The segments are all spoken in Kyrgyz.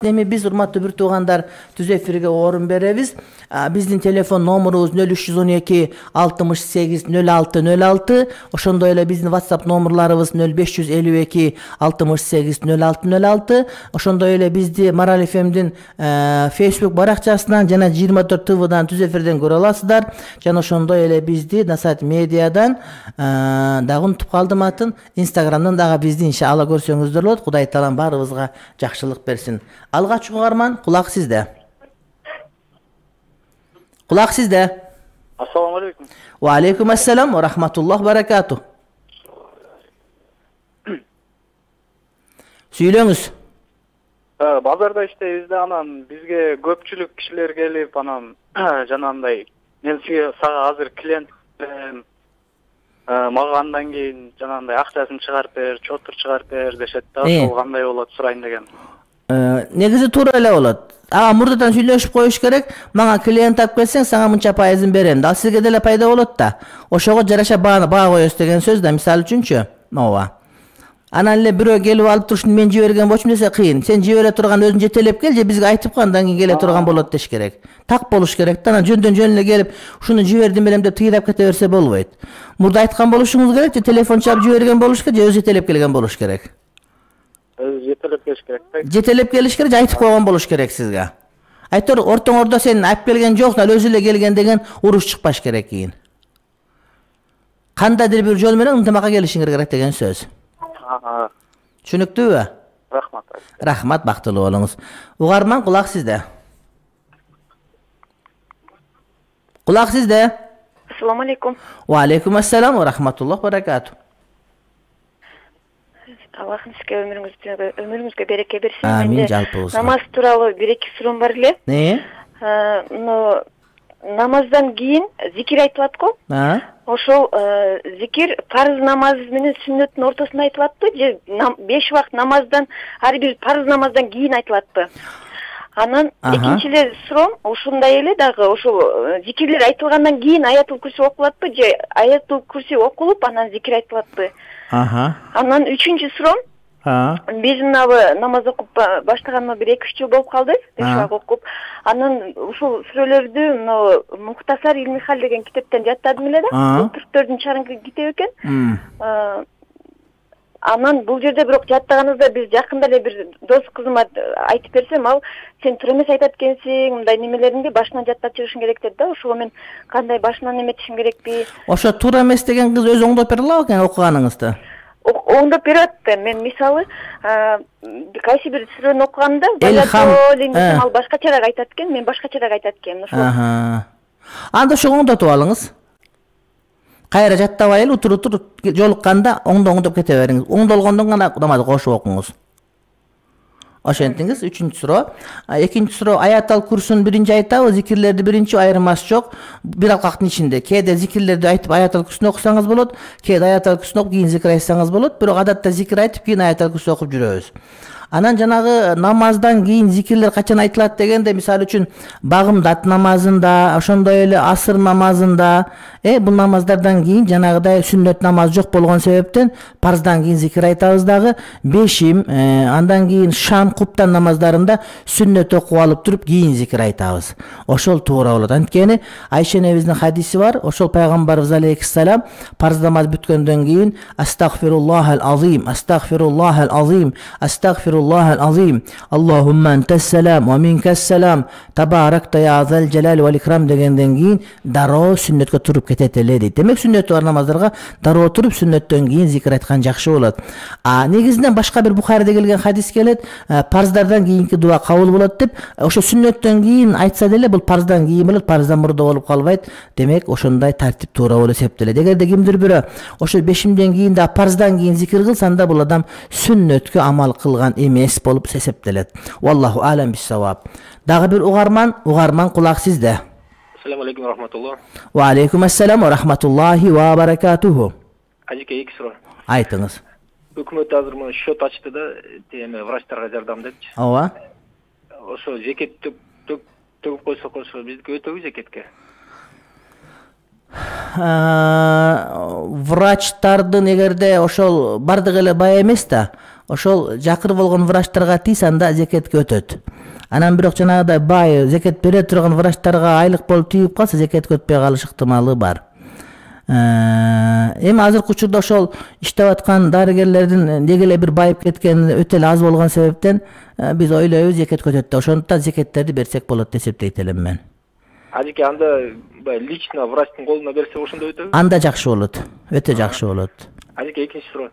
Эми биз урматтуу бир туугандар түз эфирге орун беребиз. Биздин телефон номерубуз 0312 68 06 06. Ошондой эле биздин WhatsApp номерларыбыз 0552 68 06 06. Ошондой эле бизди Марал FM'дин Facebook баракчасынан жана 24 ТВдан түз эфирден көрө аласыздар. Жана ошондой эле бизди Насаат медиадан дагы унутуп калдым атын. Instagram'дан дагы бизди иншалла көрсөңүздөр болот. Кудай таалам баарыбызга жакшылык берсин. Алгач угарман, кулак сизде. Кулак сизде. Ассаламу алейкум. Ва алейкум ассалам ва рахматуллах баракату. Сүйлөңүз. Базарда иштейбиз да, анан бизге көпчүлүк кишилер келип, анан жанагындай мен сага азыр клиент мага андан кийин жанагындай акчасын чыгарып бер, чотур чыгарып бер дешет да, ошол кандай болот сурайын деген. Негизи туура эле болот. Мурдадан сүйлөшүп коюш керек. Мага клиент алып келсең, сага мынча пайызын берем да. Сизге деле пайда болот да. Ошого жараша баа коёсуз деген сөз да, мисалы үчүнчү. Ооба. Анан эле бирөө келип алып турушун мен жиберген болчумун десе кыйын. Сен жибере турган өзүң жетелеп кел же бизге айтып кой, андан кийин келе турган болот деш керек. Так болуш керек да. Анан жөндөн жөн эле келип, ушуну жибердим белем деп тыйрап кете берсе болбойт. Мурда айткан болушуңуз керек, же телефон чалып жиберген болуш керек, же өзү жетелеп келген болуш керек. Жетелеп келиш керек да. Жетелеп келиш керек, же айтып койгон болуш керек сизге. Айтор ортоңордо сен алып келген жоксуң, ал өзү эле келген деген уруш чыкпаш керек кийин. Кандайдыр бир жол менен ынтымакка келишиңер керек деген сөз. Түшүнүктүүбү? Рахмат. Рахмат, бактылуу болуңуз. Угарман, кулак сизде. Кулак сизде. Ассаламу алейкум. Ва алейкум ассалам ва рахматуллах баракату. Аллахым сизге өмүрүңүзгө береке берсин. Амин, жалпыбызга. Намаз тууралуу бир-эки суроом бар эле. Намаздан кийин зикир айтылат го. Ошол зикир парыз намаз менен сүннөттүн ортосунда айтылатпы же 5 убакыт намаздан ар бир парыз намаздан кийин айтылатпы? Анан экинчиле суроом ушундай эле дагы, ошол зикирлер айтылгандан кийин аятул курси окулатпы же аятул курси окулуп анан зикир айтылатпы? Анан үчүнчү суроом, биз мынабы намаз окуп баштаганыма бир 2-3 жыл болуп калды, 5 убакыт окуп. Анан ушул сүрөлөрдү мына Мухтасар Илми Хал деген китептен жаттадым эле да. 44-чарыңкы китеп экен. Анан бул жерде бирок жаттаганыбызда биз жакында эле бир дос кызыма айтып берсем, ал сен туура эмес айтат экенсиң, мындай немелеринди башынан жаттап чыгышың керек деди да. Ошого мен кандай башынан эметишим керекпи? Ошо туура эмес деген кыз өзү оңдоп бере алабы экен окуганыңызды? Оңдоп берет. Мен мисалы кайсы бир сүрөнү окуганда ал башкачараак айтат экен, мен башкачараак айтат экенмин. Анда ошо оңдотуп алыңыз. Кайра жаттабай эле утур жолукканда оңдоп кете бериңиз. Оңдолгондон гана намазды кошуп окуңуз. Ошентиңиз. Үчүнчү суроо. Экинчи суроо, аятал курсун биринчи айтабы, зикирлерди биринчи, айырмасы жок. Бир алкактын ичинде кээде зикирлерди айтып аятал курсун окусаңыз болот, кээде аятал курсун окуп кийин зикир айтсаңыз болот. Бирок адатта зикир айтып кийин аятал курсун окуп жүрөбүз. Анан жанагы намаздан кийин зикирлер качан айтылат дегенде, мисалы үчүн багымдат намазында, ошондой эле асыр намазында, бул намаздардан кийин жанагыдай сүннөт намаз жок болгон себептен парыздан кийин зикир айтабыз дагы. Бешим, андан кийин шам, куптан намаздарында сүннөт окуп алып туруп кийин зикир айтабыз. Ошол туура болот. Анткени Айша энебиздин хадиси бар. Ошол пайгамбарыбыз алейхиссалам парыз намаз бүткөндөн кийин астагфируллахал азим, астагфируллахал азим, астагфируллахал azim. Allahumma ente's-selam ve minke's-selam. Tabarakta ya zal jalal wal ikram degенден кийин дароо сүннөткө туруп кетет эле дейт. Демек сүннөтү бар намаздарга дароо туруп сүннөттөн кийин зикир айткан жакшы болот. Негизинен башка бир Бухариде келген хадис келет, парыздардан кийинки дуа кабыл болот деп. Ошо сүннөттөн кийин айтса деле бул парыздан кийин болот, парыздан мурда болуп калбайт. Демек ошондой тартип туура болуп эсептелет. Эгерде кимдир бирөө ошо бешимден кийин да парыздан кийин зикир кылса, анда бул адам сүннөткө амал кылган эмес болуп эсептелет. Валлаху алам бис-саваб. Дагы бир угарман, кулак сизде. Ассаламу алейкум рахматуллах. Ва алейкум ассалам ва рахматуллахи ва баракатуху. Ажеке, 2 суроо. Айтыңыз. Өкмөт азыр мына счет ачты да, врачтарга жардам депчи. Ооба. Ошо зекет төгүп койсок, ошо биздики өтөбү зекетке? Врачтардын эгерде ошол бардыгы эле бай эмес да, ошол жакыр болгон врачтарга тийс, анда зекетке өтөт. Анан бирок жанагыдай бай зекет бере турган врачтарга айлык болуп тийип калса зекетке өтпөй калыш ыктымалы бар. Эми азыркы учурда ошол иштеп аткан дарыгерлердин деги эле бир байып кеткени өтө эле аз болгон себептен биз ойлойбуз зекетке өтөт да, ошондуктан зекеттерди берсек болот деп эсептейт элем мен. Ажеке, анда лично врачтын колуна берсе ошондой өтөбү? Анда жакшы болот, өтө жакшы болот. Ажеке, экинчи суроо.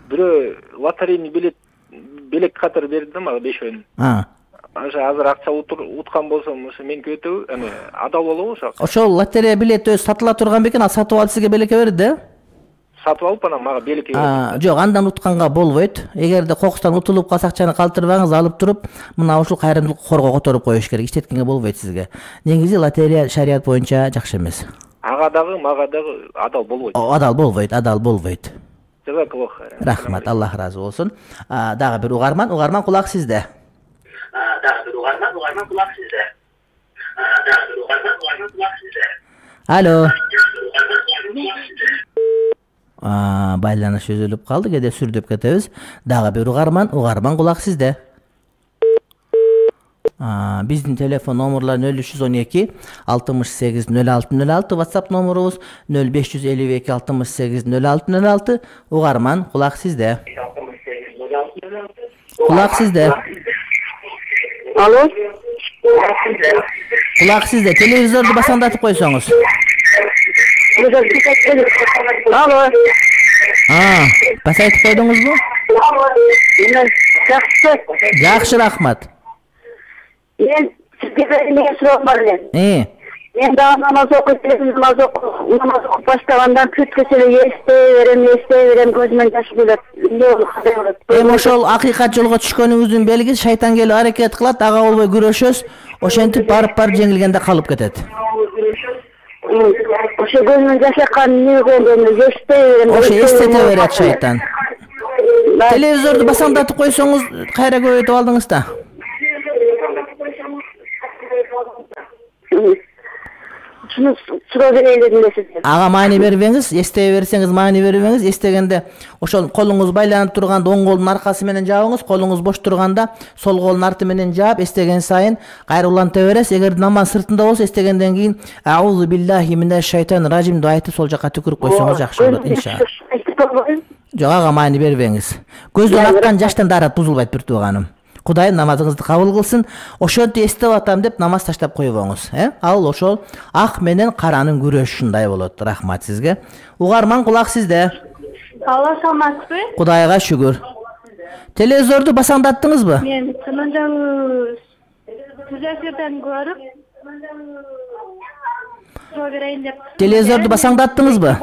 Бирөө лотерейный билет катары берди да мага 5 ойун. Ошо азыр акча уткан болсом, ошо меники өтөбү? Эми адал болобу ошо? Ошол лотерея билети өзү сатыла турган бекен, ал сатып алып сизге белекке берди да? Сатып алып анан мага белекке берди. Жок, андан утканга болбойт. Эгерде кокустан утулуп калса акчаны калтырбаңыз, алып туруп, мына ушул кайрымдуулук корго которуп коюш керек. Иштеткенге болбойт сизге. Негизи лотерея шарият боюнча жакшы эмес. Ага дагы, мага дагы адал болбойт. Адал болбойт. Жазакаллах. Рахмат, Аллах ыраазы болсун. Дагы бир угарман кулак сизде. Алло. Байланыш үзүлүп калды, кээде сүрдөп кетебиз. Дагы бир угарман кулак сизде. Биздин телефон номерлары 0312 68 06 06, WhatsApp номерубуз 0552 68 06 06. Угарман кулак сизде. Кулак сизде. Алло. Кулак сизде. Телевизорду басаңдатып койсоңуз. Алло. Басайтып койдуңузбу? Жакшы, рахмат. Мен сизге эмне суроо бар эле. Мен дагы намаз окуп баштагандан бүткөчө эле эстей берем, көзүмөн жаш келет. Эми ошол акыйкат жолго түшкөнүңүздүн белгиси, шайтан келип аракет кылат, ага болбой күрөшөс, ошентип барып жеңилгенде калып кетет. Ошо көзүмөн жаш аккан эстей берем. Ошо эстете берет шайтан. Телевизорду басаңдатып койсоңуз, кайра көбөйтүп алдыңыз да. Ага маани бербеңиз, эстей берсеңиз маани бербеңиз. Эстегенде ошол колуңуз байланып турганда оң колдун аркасы менен жабыңыз, колуңуз бош турганда сол колдун арты менен жаап, эстеген сайын кайра уланта бересиз. Эгер намаз сыртында болсо, эстегенден кийин аузу биллахи минаш шайтанир ражим деп айтып сол жака түкүрүп койсоңуз жакшы болот, иншалла. Жок, ага маани бербеңиз. Көздөн аккан жаштан даарат бузулбайт, бир тууганым. Кудайым намазыңызды кабыл кылсын. Ошентип эстеп атам деп намаз таштап койбоңуз. Ал ошол ак менен каранын күрөшүндай болот. Рахмат сизге. Угарман кулак сизде. Алла саламатсызбы? Кудайга шүгүр. Телевизорду басаңдаттыңызбы? Мен чынында эфирден көрүп берейин деп. Телевизорду басаңдаттыңызбы?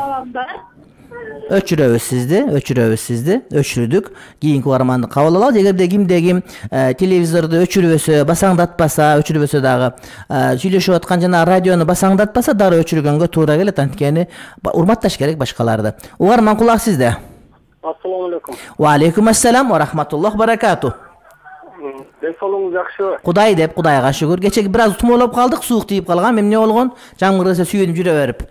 Өчүрөбүз сизди, өчүрдүк. Кийинки угарманды кабыл алалы. Эгерде кимде-ким телевизорду өчүрбөсө, басаңдатпаса, өчүрбөсө дагы сүйлөшүп аткан жана радиону басаңдатпаса, дары өчүргөнгө туура келет. Анткени урматташ керек башкаларды. Угарман кулак сизде. Ассаламу алейкум. Ва алейкум ассалам ва рахматуллах баракату. Ден соолугуңуз жакшыбы? Кудай деп, Кудайга шүгүр. Кечеги бир аз тумоолоп калдык, суук тийип калган. Эмне болгон? Жамгыр эсе сүйүнүп жүрө берип.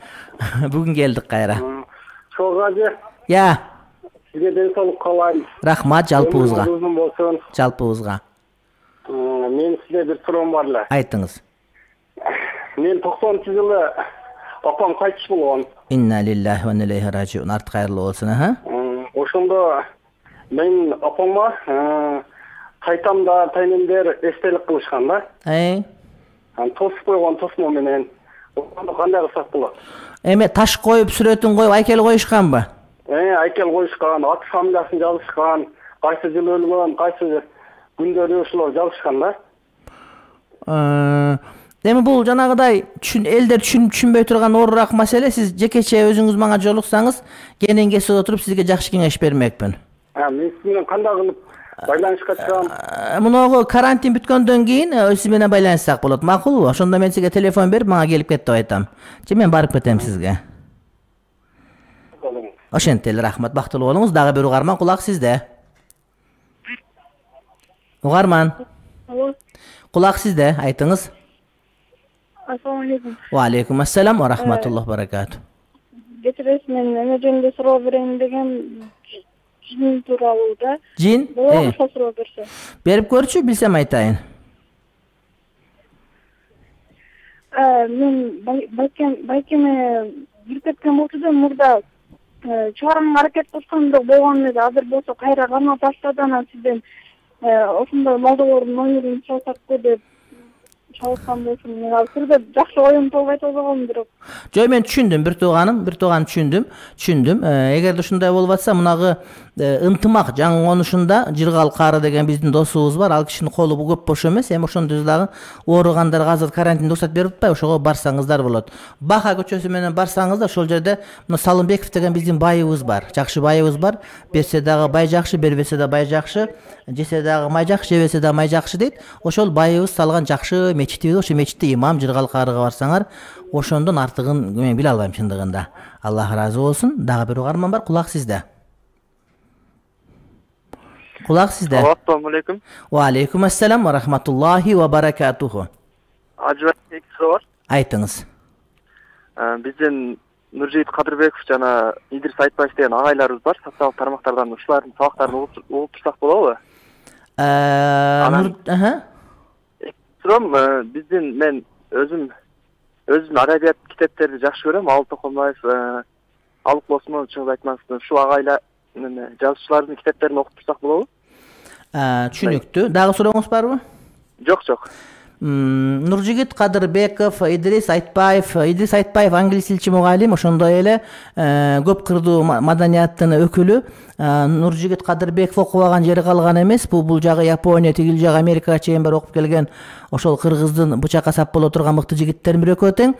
Бүгүн келдик кайра. Чогажы. Я. Сизге ден соолук каалайм. Рахмат жалпыбызга. Uzun болсун. Жалпыбызга. Мен сизге бир суроом бар эле. Айтыңыз. Мен 90-жылы апам кайтыш болгон. Инна лиллахи ва инна илейхи ражиун. Арт кайырлуу болсун, Ошондо мен апама кайтамда тайнемдер эстелик кылышкан да. Тосуп койгон тосмо менен. Ошондо кандай кылсак болот? Эме таш коюп, сүрөтүн коюп, айкел коюшканбы? Айкел коюшкан, ат фамилиясын жазышкан, кайсы жылы өлгөн, кайсы күндөрү ошолор жазышкан да. Эми бул жанагыдай элдер түшүнбөй турган оорураак маселе. Сиз жекече өзүңүз мага жолуксаңыз, кенен кесип отуруп сизге жакшы кеңеш бермекмин. Мен сиз менен кандай кылып байланышка чыгам? Муногу карантин бүткөндөн кийин сиз менен байланышсак болот, макулбу? Ошондо мен сизге телефон берип, мага келип кет деп айтам. Же мен барып кетем сизге. Ошентип эле, рахмат, бактылуу болуңуз. Дагы бир угарман кулак сизде. Угарман. Кулак сизде, айтыңыз. Ассаламу алейкум. Ва алейкум ассалам ва рахматуллах баракату. Кечиресиз, мен эме жөнүндө суроо берейин деген жин тууралуу да. Жин? Ошол суроо берсе. Берип көрчү, билсем айтайын. Мен байкеме бир кеткен болчу да, мурда чыгарымга аракет кылсам болгон эле. Азыр болсо кайра кармап баштады, анан сизден ошондой молдолордун номерин чалсакпы деп чалсам болсун. Мен азыр жакшы оюм болбойт болгон бирок. Жок, мен түшүндүм, бир тууганым түшүндүм. Эгерде ушундай болуп атса, мунагы ынтымак жаңы конушунда Жыргал Кары деген биздин досубуз бар. Ал кишинин колу көп бош эмес. Эми ошондо дагы ооругандарга азыр карантин уруксат берип атпайбы? Ошого барсаңыздар болот. Баха көчөсү менен барсаңыздар, ошол жерде мына Салымбеков деген биздин байыбыз бар. Жакшы байыбыз бар. Берсе дагы бай жакшы, бербесе да бай жакшы. Жесе дагы май жакшы, жебесе да май жакшы дейт. Ошол байыбыз салган жакшы мечитибиз, ошо мечитте имам Жыргал Карыга барсаңар, ошондон артыгын мен биле албайм чындыгында. Аллах ыраазы болсун. Дагы бир угарман бар, кулак сизде. Кулак сизде. Ассаламу алейкум. Ва алейкум ассалам ва рахматуллахи ва баракатуху. Ажыбек суроо бар. Айтыңыз. Биздин Нуржигит Кадырбеков жана Идрис Айтбаев деген агайларыбыз бар. Социалдык тармактардан ушулардын сабактарын угуп турсак болобу? Суром, мен өзүм адабият китептерди жакшы көрөм. Алып Токомбаев, Алык Осмонов чыгып айтмакчы. Ушул агайлар жазуучулардын китептерин окуп турсак болобу? Түшүнүктүү. Дагы сурооңуз барбы? Жок. Нуржигит Кадырбеков, Идрис Айтбаев англис тилчи мугалим, ошондой эле көп кырдуу маданияттын өкүлү. Нуржигит Кадырбеков окубаган жери калган эмес. Бул жагы Япония, тигил жагы Америкага чейин бар окуп келген. Ошол кыргыздын бычакка сап боло турган мыкты жигиттердин бири экөө тең.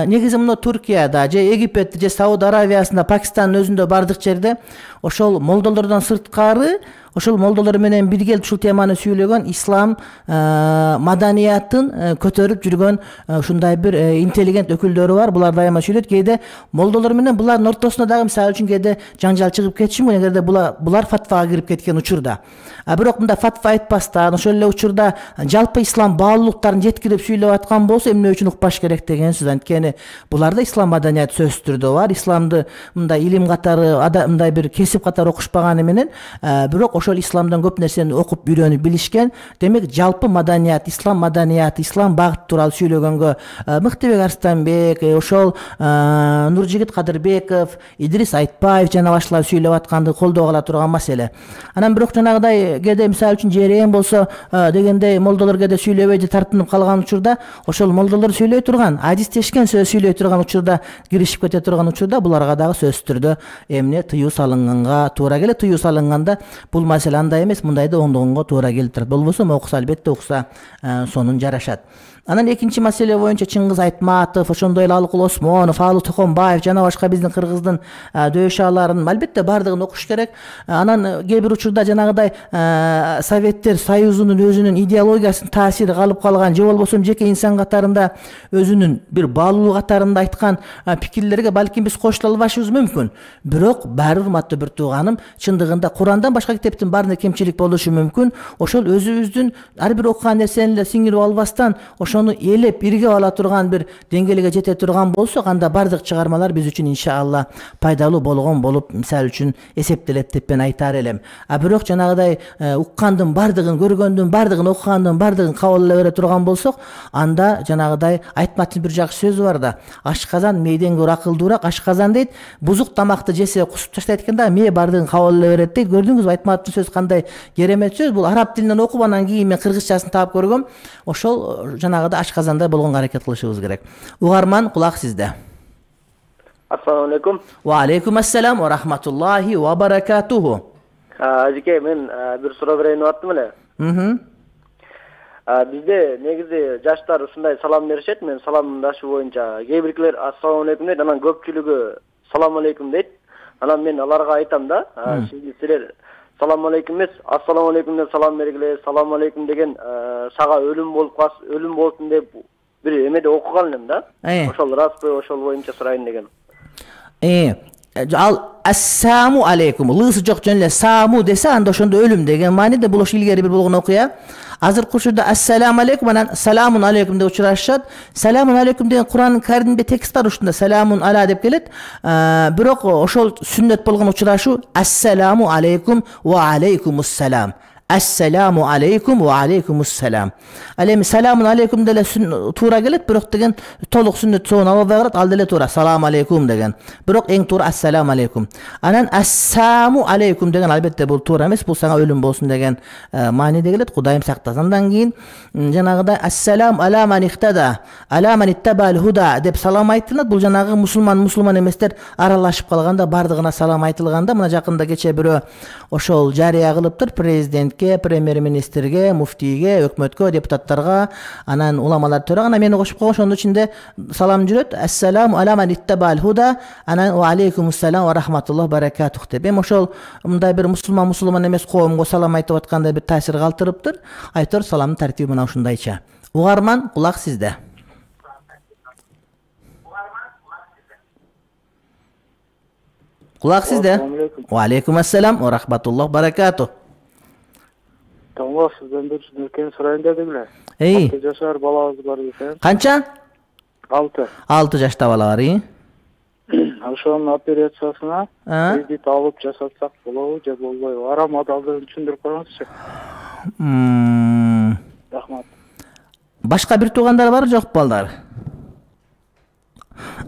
Негизи мына Туркияда, же Египетте, же Сауд Аравиясында, Пакистандын өзүндө бардык жерде ошол молдолордон сырткары ошол молдолор менен бирге ушул теманы сүйлөгөн ислам маданиятын көтөрүп жүргөн ушундай бир интеллигент өкүлдөрү бар. Булар дайыма сүйлөйт. Кээде молдолор менен булардын ортосунда дагы мисалы үчүн кээде жаңжал чыгып кетиши мүмкүн, эгерде булар фатвага кирип кеткен учурда. Бирок мында фатва айтпастан, ошол эле учурда жалпы ислам баалуулуктарын жеткирип сүйлөп аткан болсо эмне үчүн укпаш керек деген сөз. Анткени буларда ислам маданияты сөзсүз түрдө бар. Исламды мындай илим катары, мындай бир кесип катары окушпаганы менен, бирок ошол исламдан көп нерсени окуп үйрөнүп билишкен. Демек жалпы маданият, ислам багыты тууралуу сүйлөгөнгө Мыктыбек Арстанбек, ошол Нуржигит Кадырбеков, Идрис Айтбаев жана башкалар сүйлөп атканды колдоо кыла турган маселе. Анан бирок жанагыдай кээде мисалы үчүн жерен болсо дегендей молдолор кээде сүйлөбөй же тартынып калган учурда ошол молдолор сүйлөй турган, адистешкен сөз сүйлөй турган учурда, киришип кете турган учурда буларга дагы сөзсүз түрдө эмне тыюу салынганга туура келет. Тыюу салынганда бул маселе андай эмес, мындайды оңдогонго туура келип турат. Болбосо окуса, албетте окуса сонун жарашат. Анан экинчи маселе боюнча Чыңгыз Айтматов, ошондой эле Алык Осмонов, Алык Токомбаев жана башка биздин кыргыздын дөшаларын албетте бардыгын окуш керек. Анан кээ бир учурда жанагыдай Советтер Союзунун өзүнүн идеологиясынын таасири калып калган, же болбосо жеке инсан катарында өзүнүн бир баалуулук катарында айткан пикирлерге балким биз кошула албашыбыз мүмкүн. Бирок баары урматтуу бир тууганым, чындыгында Курандан башка китептин баарында кемчилик болушу мүмкүн. Ошол өзүбүздүн ар бир окуган нерсени эле сиңирип албастан, ошону элеп иргеп ала турган бир деңгээлге жете турган болсок, анда бардык чыгармалар биз үчүн иншалла пайдалуу болгон болуп мисалы үчүн эсептелет деп мен айтар элем. Бирок жанагыдай уккандын бардыгын, көргөндүн бардыгын, окугандын бардыгын кабыл але бере турган болсок, анда жанагыдай Айтматтын бир жакшы сөзү бар да: ашказан мээден көрө акылдуураак. Ашказан дейт, бузук тамакты жесе кусуп таштайт экен да, мээ бардыгын кабыл але берет дейт. Көрдүңүзбү Айтматтын сөзү кандай керемет сөз. Бул араб тилинен окуп, анан кийин мен кыргызчасын таап көргөм. Ошол жанагыдай ашказандай болгонго аракет кылышыбыз керек. Угарман, кулак сизде. Ассаламу алейкум. Ва алейкум ассалам ва рахматуллахи ва баракатуху. Ажеке, мен бир суроо берейин деп аттым эле. Бизде негизи жаштар ушундай салам беришет. Мен саламдашы боюнча кээ биркилер ассаламу алейкум дейт, анан көпчүлүгү салам алейкум дейт. Анан мен аларга айтам да, силер салам алейкум эмес, ассаламу алейкум деп салам бергиле. Салам алейкум деген сага өлүм болсун деп бир эмеде окуган элем да. Ошол распы, ошол боюнча сурайын деген. ал ассаму алейкум лысы жок жөн эле саму десе анда ошондо өлүм деген мааниде. Бул ошо илгери бир болгон окуя. Азыркы учурда ассаламу алейкум анан саламун алейкум деп учурашышат. Саламун алейкум деген Кур'ан Каримде текст бар, ушунда саламун ала деп келет. Бирок ошол сүннөт болгон учурашуу ассаламу алейкум ва алейкумуссалам. Ассаламу алейкум ва алейкумуссалам. Ал эми саламун алейкум деле туура келет, бирок деген толук сүннөт соон албай калат, ал деле туура салам алейкум деген. Бирок эң туура ассаламу алейкум. Анан ассаму алейкум деген албетте бул туура эмес, бул сага өлүм болсун деген мааниде келет. Кудайым сактасын. Андан кийин жанагыдай ассалам ала ман ихтада, ала ман иттабал худа деп салам айтылат. Бул жанагы мусулман эместер аралашып калганда бардыгына салам айтылганда, мына жакында кече бирөө ошол жарыя кылыптыр президентке, премьер-министрге, муфтийге, өкмөткө, депутаттарга, анан уламалар төрөгөн. Анан мени кошуп койгон, ошонун ичинде салам жүрөт. Ассаламу ала ман иттабал худа, анан ва алейкумуссалам ва рахматуллах баракатух деп. Эми ошол мындай бир мусулман эмес коомго салам айтып аткандай бир таасир калтырыптыр. Айтор саламдын тартиби мына ушундайча. Угарман, кулак сизде. Кулак сизде. Ва алейкумуссалам ва рахматуллах баракатух. Тамга сизден бир нерсени сурайын дедим эле. 6 жашар балабыз бар экен. Канча? 6. 6 жашта бала бар, Ошонун операциясына кредит алып жасатсак болобу же болбойбу? Арам адалдыгын түшүндүрүп коюңузчу. Рахмат. Башка бир туугандар бар жок балдар?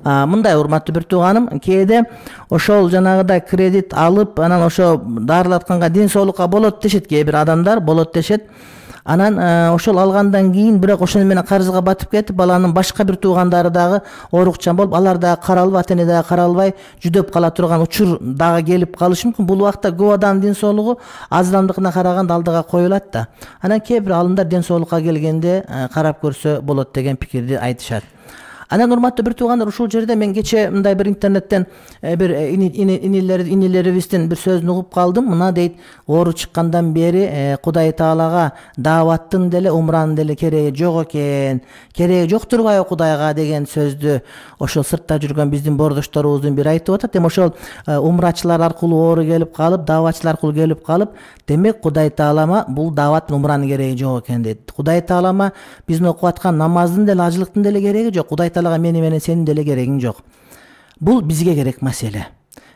Мындай урматтуу бир тууганым, кээде ошол жанагыдай кредит алып, анан ошо дарылатканга ден соолукка болот дешет, кээ бир адамдар болот дешет. Анан ошол алгандан кийин бирок ошону менен карызга батып кетип, баланын башка бир туугандары дагы оорукчан болуп, алар дагы каралбай, ата-эне дагы каралбай жүдөп кала турган учур дагы келип калышы мүмкүн. Бул убакта көп адамдын ден соолугу аз адамдыкына караганда алдыга коюлат да. Анан кээ бир алымдар ден соолукка келгенде карап көрсө болот деген пикирди айтышат. Анан урматтуу бир туугандар, ушул жерде мен кече мындай бир интернеттен бир инилерибиздин бир сөзүн угуп калдым. Мына дейт, оору чыккандан бери Кудай Таалага дааваттын деле, умранын деле кереги жок экен. Кереги жок турбайбы Кудайга деген сөздү ошол сыртта жүргөн биздин бордошторубуздун бири айтып атат. Эми ошол умрачылар аркылуу оору келип калып, дааватчылар аркылуу келип калып, демек Кудай Таалама бул дааваттын умранын кереги жок экен дейт. Кудай Таалама биздин окуп аткан намаздын деле, ажылыктын деле кереги жок. Кудай Таалага менен сенин деле керегиң жок. Бул бизге керек маселе.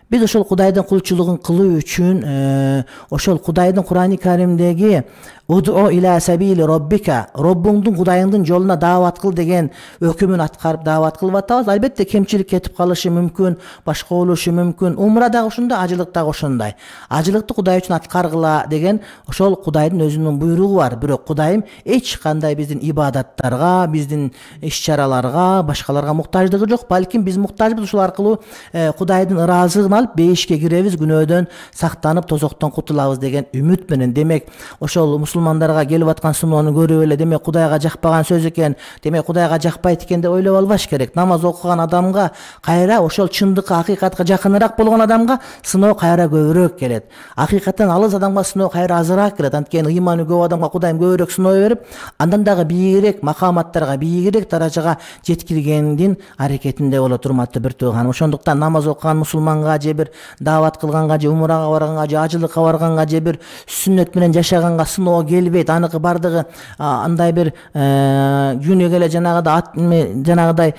Биз ошол Кудайдын кулчулугун кылуу үчүн ошол Кудайдын Кур'ани Каримдеги Уду иля сабили роббика, Роббуңдун Кудайыңдын жолуна даават кыл деген өкүмүн аткарып даават кылып атабыз. Албетте кемчилик кетип калышы мүмкүн, башка болушу мүмкүн. Умра дагы ошондой, ажылык дагы ошондой. Ажылыкты Кудай үчүн аткаргыла деген ошол Кудайдын өзүнүн буйругу бар. Бирок Кудайым эч кандай биздин ибадаттарга, биздин иш-чараларга, башкаларга муктаждыгы жок. Балким биз муктажбыз, ушул аркылуу Кудайдын ыраазылыгын алып бейишке киребиз, күнөөдөн сактанып, тозоктон кутулабыз деген үмүт менен. Демек ошол мусулмандарга келип аткан сыноону көрүп эле, демек Кудайга жакпаган сөз экен, демек Кудайга жакпайт экен деп ойлоп албаш керек. Намаз окуган адамга кайра ошол чындыкка, акыйкатка жакыныраак болгон адамга сыноо кайра көбүрөөк келет. Акыйкаттан алыс адамга сыноо кайра азыраак келет. Анткени ыйманы көп адамга Кудайым көбүрөөк сыноо берип, андан дагы бийигирээк макаматтарга, бийигирээк даражага жеткиргендин аракетинде болот, урматтуу бир тууганым. Ошондуктан намаз окуган мусулманга же бир даават кылганга, же умрага барганга, же ажылыкка барганга, же бир сүннөт менен жашаганга сыноо келбейт. Аныкы бардыгы андай бир күнү келе жанагыдай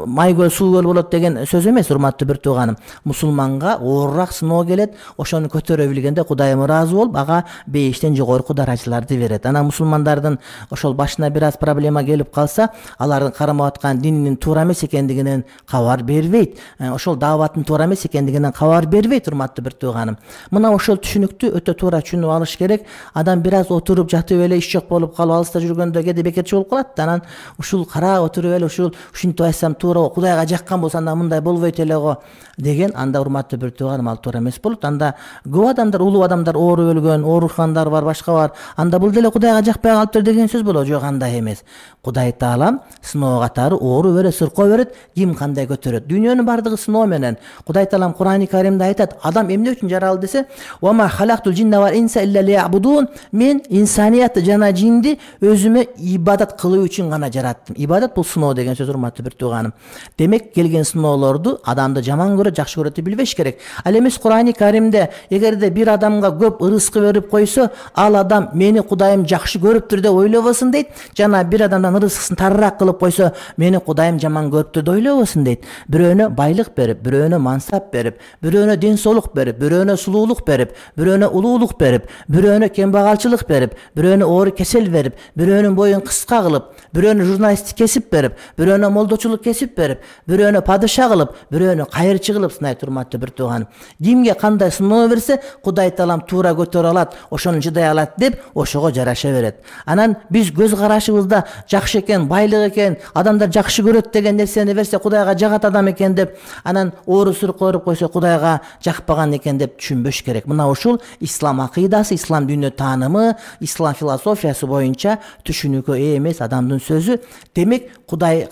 май көл, суу көл болот деген сөз эмес, урматтуу бир тууганым. Мусулманга оорураак сыноо келет, ошону көтөрө билгенде Кудайым ыраазы болуп, ага бейиштен жогорку даражаларды берет. Анан мусулмандардын ошол башына бир аз проблема келип калса, алардын кармап аткан дининин туура эмес экендигинен кабар бербейт. Ошол дааваттын туура эмес экендигинен кабар бербейт, урматтуу бир тууганым. Мына ошол түшүнүктү өтө туура түшүнүп алыш керек. Адам бир аз отуруп жатып эле иш жок болуп калып, алыста жүргөндө кээде бекерчи болуп калат. Анан ушул караап отуруп эле ушинтип айтсам туура, Кудайга жаккан болсо анда мындай болбойт эле го деген, анда урматтуу бир тууганым, ал туура эмес болот. Анда көп адамдар, улуу адамдар ооруп өлгөн, оорукандар бар, башка бар. Анда бул деле Кудайга жакпай калыптыр деген сөз болот. Жок, андай эмес. Кудай Таалам сыноо катары оору берет, сыркоо берет, ким кандай көтөрөт. Дүйнөнүн бардыгы сыноо менен. Кудай Таалам Кур'ани Каримде айтат, адам эмне үчүн жаралды десе, "Ва ма халактул джинна вал инса илля лиябудун", мен инсаниятты жана жинди өзүмө ибадат кылуу үчүн гана жараттым. Ибадат бул сыноо деген сөз, урматтуу бир тууганым. Демек келген сыноолорду адамды жаман көрөт, жакшы көрөт деп билбеш керек. Ал эмес Кур'ани Каримде эгерде бир адамга көп ырыскы берип койсо, ал адам мени Кудайым жакшы көрүптүр деп ойлобосун дейт. Жана бир адамдан ырыскысын тарыраак кылып койсо, мени Кудайым жаман көрүптүр деп ойлобосун дейт. Бирөөнө байлык берип, бирөөнө мансап берип, бирөөнө ден соолук берип, бирөөнө сулуулук берип, бирөөнө улуулук берип, бирөөнө кембагалчылык берип, бирөөнө оору кесел берип, бирөөнүн боюн кыска кылып, бирөөнө журналисттик кесип берип, бирөөнө молдочулук кесип берип, бирөөнө падыша кылып, бирөөнө кайырчы кылып сынайт, урматтуу бир тууганым. Кимге кандай сыноо берсе, Кудай Таалам туура көтөрө алат, ошону чыдай алат деп ошого жараша берет. Анан биз көз карашыбызда жакшы экен, байлык экен, адамдар жакшы көрөт деген нерсени берсе, Кудайга жагат адам экен деп, анан оору сурук көрүп койсо, Кудайга жакпаган экен деп түшүнбөш керек. Мына ушул ислам акыйдасы, ислам дүйнө таанымы, ислам философиясы боюнча түшүнүүгө эмес адамдын сөзү. Демек Кудай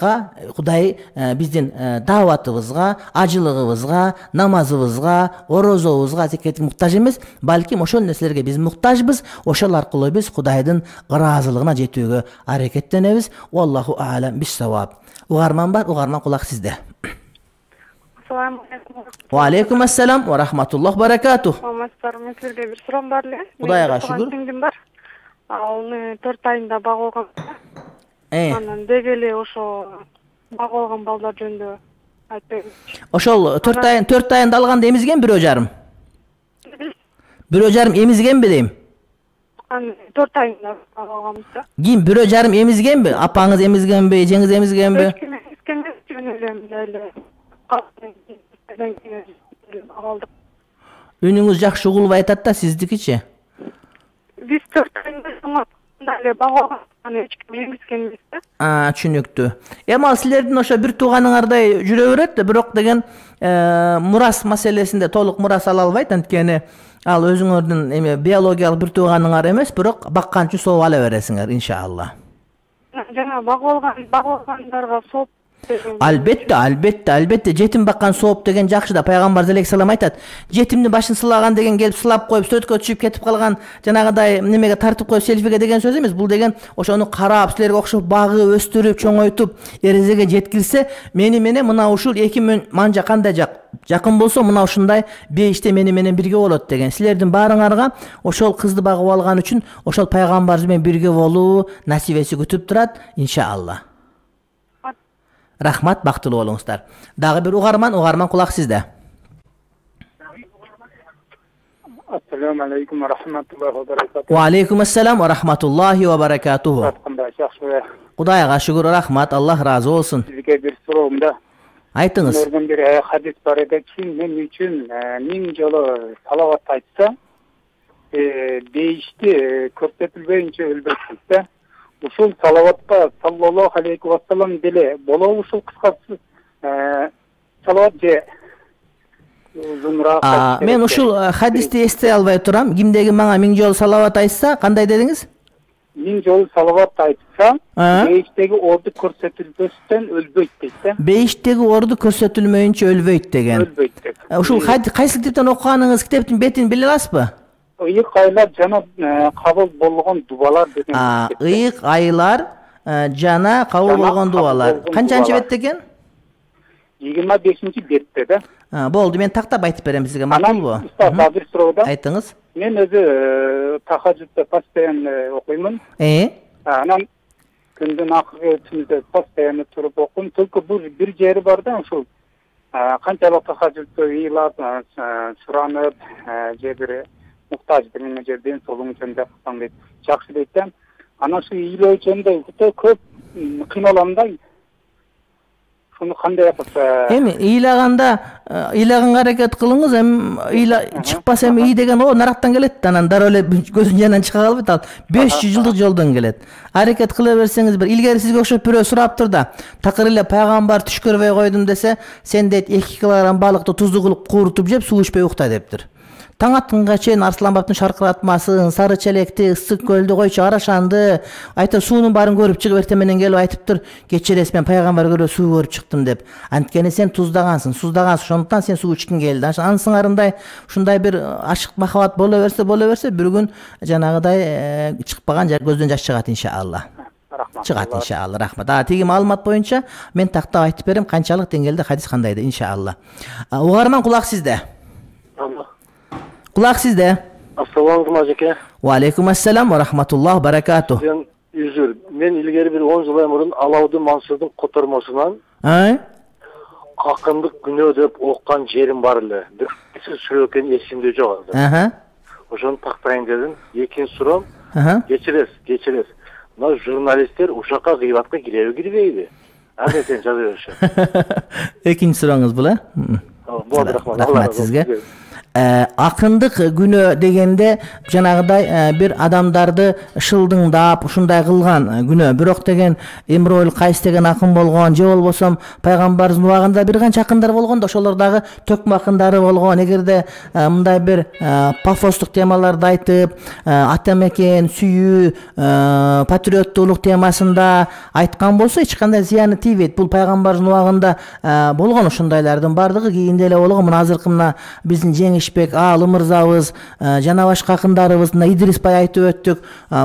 биздин дааватыбызга, ажылыгыбызга, намазыбызга, орозобузга зекет муктаж эмес, балким ошол нерселерге биз муктажбыз. Ошол аркылуу биз Кудайдын ыраазылыгына жетүүгө аракеттенебиз. Wallahu a'lam bis-sawab. Угарман бар, угарман кулак сизде. Assalamu alaikum. Wa alaikum assalam wa rahmatullah barakatuh. Мен сизге бир суроом бар эле. Кудайга шүгүр. Сиңдим бар. Ал 4 айында багылган. Анан деги эле ошо багылган балдар жөнүндө айтпайбыз. Ошол 4 айында алганда эмизген 1,5. 1,5 эмизгенби дейм? 4 айында багылганбыз да. Ким 1,5 эмизгенби? Апаңыз эмизгенби, эжеңиз эмизгенби? Үнүңүз жакшы угулуп айтат да, сиздикичи? Биз 4 айында эле багылган, эч ким эмизгенбиз да. Түшүнүктүү. Эми ал силердин ошо бир тууганыңардай жүрө берет да, бирок деген мурас маселесинде толук мурас ала албайт, анткени ал өзүңөрдүн биологиялык бир тууганыңар эмес, бирок баккан үчүн сооп ала бересиңер, иншалла. Жана багылгандарга сооп. Албетте, жетим баккан сооп деген жакшы да. Пайгамбар алейхиссалам айтат, жетимдин башын сылаган деген келип сылап коюп, сөткө түшүп кетип калган жанагыдай немеге тартып коюп селфиге деген сөз эмес. Бул деген ошону карап, силерге окшоп багып, өстүрүп, чоңойтуп, эрезеге жеткирсе, мени менен мына ушул эки манжа кандай жакын болсо, мына ушундай бейиште мени менен бирге болот деген. Силердин баарыңарга ошол кызды багып алган үчүн ошол пайгамбар менен бирге болуу насибеси күтүп турат, иншалла. Рахмат, бактылуу болуңуздар. Дагы бир угарман кулак сизде. Ассаламу алейкум ва рахматуллахи ва баракатуху. Ва алейкум ассалам ва рахматуллахи ва баракатуху. Кудайга шүгүр, рахмат, Аллах разы болсун. Сизге бир суроом да. Айтыңыз. Көргөн бир хадис бар эди, ким мен үчүн 1000 жолу салават айтса, бейишти көрсөтүлбөйүнчө өлбөйт да. Ушул салаватка саллаллаху алейхи ва саллам деле болобу ушул кыскасы салават же узунураак? Мен ушул хадисти эстей албай турам. Кимдеги мага 1000 жолу салават айтса, кандай дедиңиз? 1000 жолу салават айтса, бейиштеги орду көрсөтүлбөстөн өлбөйт дейт да. Бейиштеги орду көрсөтүлмөйүнчө өлбөйт деген. Өлбөйт деп. Ушул кайсы китептен окуганыңыз, китептин бетин биле аласызбы? Ыйык айлар жана кабыл болгон дубалар деген. Ыйык айлар жана кабыл болгон дубалар. Канчанчы бетте экен? 25-бетте да. Болду, мен тактап айтып берем сизге, макулбу? Бир суроо да. Айтыңыз. Мен өзү тахажжудда постоянно окуймун. Анан күндүн акыркы түндө постоянно туруп окуйм. Только бир жери бар да, ушул канчалык тахажжудда ыйлап, суранып, же бир муктаждыр мен жерден солуң жөнүндө кылсаң дейт. Жакшы дейт да. Анан ушу ыйлоо жөнүндө өтө көп кыйналам да. Шуну кандай кылса? Эми ыйлаганга аракет кылыңыз, эми чыкпаса эми ий деген о нарактан келет да, анан дароо эле көзүнүн жанынан чыга калбайт, ал 500 жылдык жолдон келет. Аракет кыла берсеңиз, бир илгери сизге окшоп бирөө сураптыр да, такыр эле пайгамбар түш көрбөй койдум десе, сен дейт 2 килограмм балыкты тузду кылып куурутуп жеп, суу ичпей укта дептир. Таң атканга чейин Арсланбаптын шаркыратмасын, Сары Челекти, Ысык көлдү, Койчу Арашанды, айтып суунун баарын көрүп чыгып эртең келип айтыптыр, кечиресиз мен пайгамбар көрө суу көрүп чыктым деп. Анткени сен туздагансың, ошондуктан сен суу ичкиң келди. Анын сыңарындай ушундай бир ашык махабат боло берсе, бир күн жанагыдай чыкпаган көздөн жаш чыгат иншалла. Чыгат иншалла. Рахмат. Тиги маалымат боюнча мен тактап айтып берем канчалык деңгээлде хадис кандайды иншалла. Угарман, кулак сизде. Кулак сизде. Ассаламу алейкум ажеке. Ва алейкум ассалам ва рахматуллах баракату. Мен илгери бир 10 жыл мурун Алаудин Мансурдун котормосунан акындык күнөө деп оккан жерим бар эле. Бир суроо экен эсимде жок азыр. Ошону тактайын дедим. Экинчи суроом, кечиресиз. Мына журналисттер ушакка гыйбатка кирбейби? Азыр сен жаза бериши. Экинчи сурооңуз бул, Болот, рахмат. Рахмат сизге. Акындык күнөө дегенде жанагыдай бир адамдарды шылдыңдап ушундай кылган күнөө. Бирок деген Имруил Кайс деген акын болгон, же болбосо пайгамбардын убагында бир канча акындар болгон да, ошолор дагы төкмө акындары болгон. Эгерде мындай бир пафостук темаларды айтып, ата мекен сүйүү, патриоттуулук темасында айткан болсо эч кандай зыяны тийбейт. Бул пайгамбардын убагында болгон ошондайлардын бардыгы кийинде эле болгон. Мына азыркы биздин жеңиш Аалы мырзабыз, жана башка акындарыбыз, Идрис Бай айтып өттүк.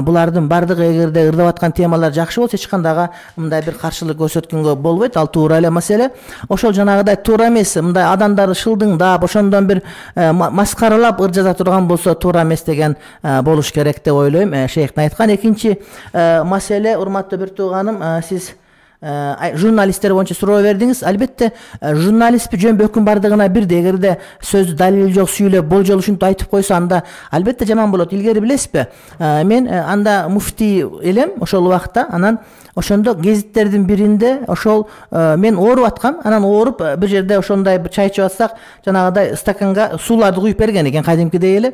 Булардын бардыгы эгерде ырдап аткан темалар жакшы болсо, эч кандай мындай бир каршылык көрсөткөнгө болбойт. Ал туура эле маселе. Ошол жанагыдай туура эмес, мындай адамдарды шылдыңдап, ошондон бир маскаралап ыр жаза турган болсо туура эмес деген болуш керек деп ойлойм. Шейхтин айткан. Экинчи маселе, урматтуу бир тууганым, сиз журналисттер боюнча суроо бердиңиз. Албетте журналист жөн-бөкүн бардыгына бирдей. Эгерде сөздү далил жок сүйлөп, болжол ушинтип айтып койсо, анда албетте жаман болот. Илгери билесизби, мен анда муфтий элем ошол убакта. Анан ошондо гезиттердин биринде ошол мен ооруп аткам. Анан ооруп бир жерде ошондой бир чай ичип атсак, жанагыдай стаканга сууларды куюп берген экен кадимкидей эле.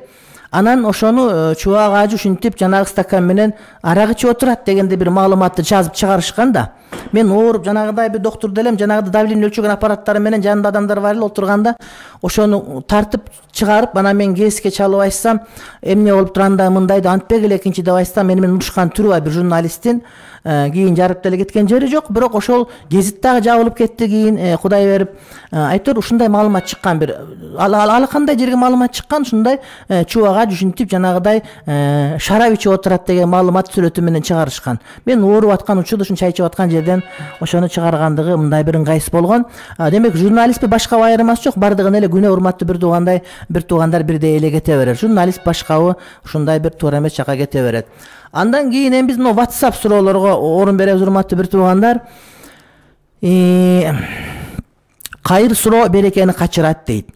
Анан ошону чубак ажы ушинтип жанагы стакан менен арак ичип отурат дегенде бир маалыматты жазып чыгарышкан да. Мен ооруп жанагыдай бир доктур делем, жанагы давление өлчөгөн аппараттары менен жанында адамдар бар эле отурганда, ошону тартып чыгарып, анан мен КСке чалып айтсам, эмне болуп турганда мындайды антпек эле экинчи деп айтсам, мени менен урушкан түрү бар бир журналисттин. Кийин жарып деле кеткен жери жок, бирок ошол гезит дагы жабылып кетти. Кийин Кудай берип айтор ушундай маалымат чыккан. Бир ал кандай жерге маалымат чыккан, ушундай чубак ушинтип жанагыдай шарап ичип отурат деген маалымат сүрөтү менен чыгарышкан. Мен ооруп аткан учурда ушун чай ичип аткан жерден ошону чыгаргандыгы мындай бир ыңгайсыз болгон. Демек журналистпи башка айырмасы жок, бардыгын эле күнөө. Урматтуу бир туугандар бирдей эле кете берет. Журналист башкабы ушундай бир туура эмес жакка кете берет. Андан кийин эми биз мына WhatsApp суроолорго орун беребиз, урматтуу бир туугандар. Кайыр суроо берекени качырат дейт.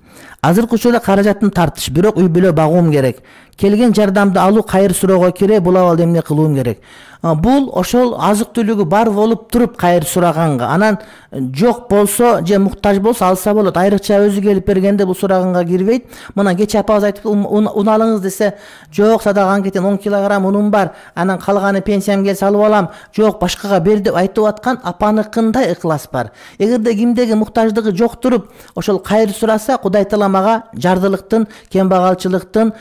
Азыркы учурда каражатын тартыш, бирок үй бүлө багуум керек. Келген жардамды алуу кайыр суроого кире, бул абалда эмне кылуум керек? Бул ошол азык-түлүгү бар болуп туруп кайыр сураганга, анан жок болсо же муктаж болсо алса болот. Айрыкча өзү келип бергенде бул сураганга кирбейт. Мына кече апабыз айтып, un алыңыз десе, жок садаган кетен 10 килограмм унум бар, анан калганы пенсиям келсе алып алам, жок башкага бер деп айтып аткан апаныкындай ыклас бар. Эгерде кимдеги муктаждыгы жок туруп, ошол кайыр сураса, Кудай таала мага жардылыктын, кембагалчылыктын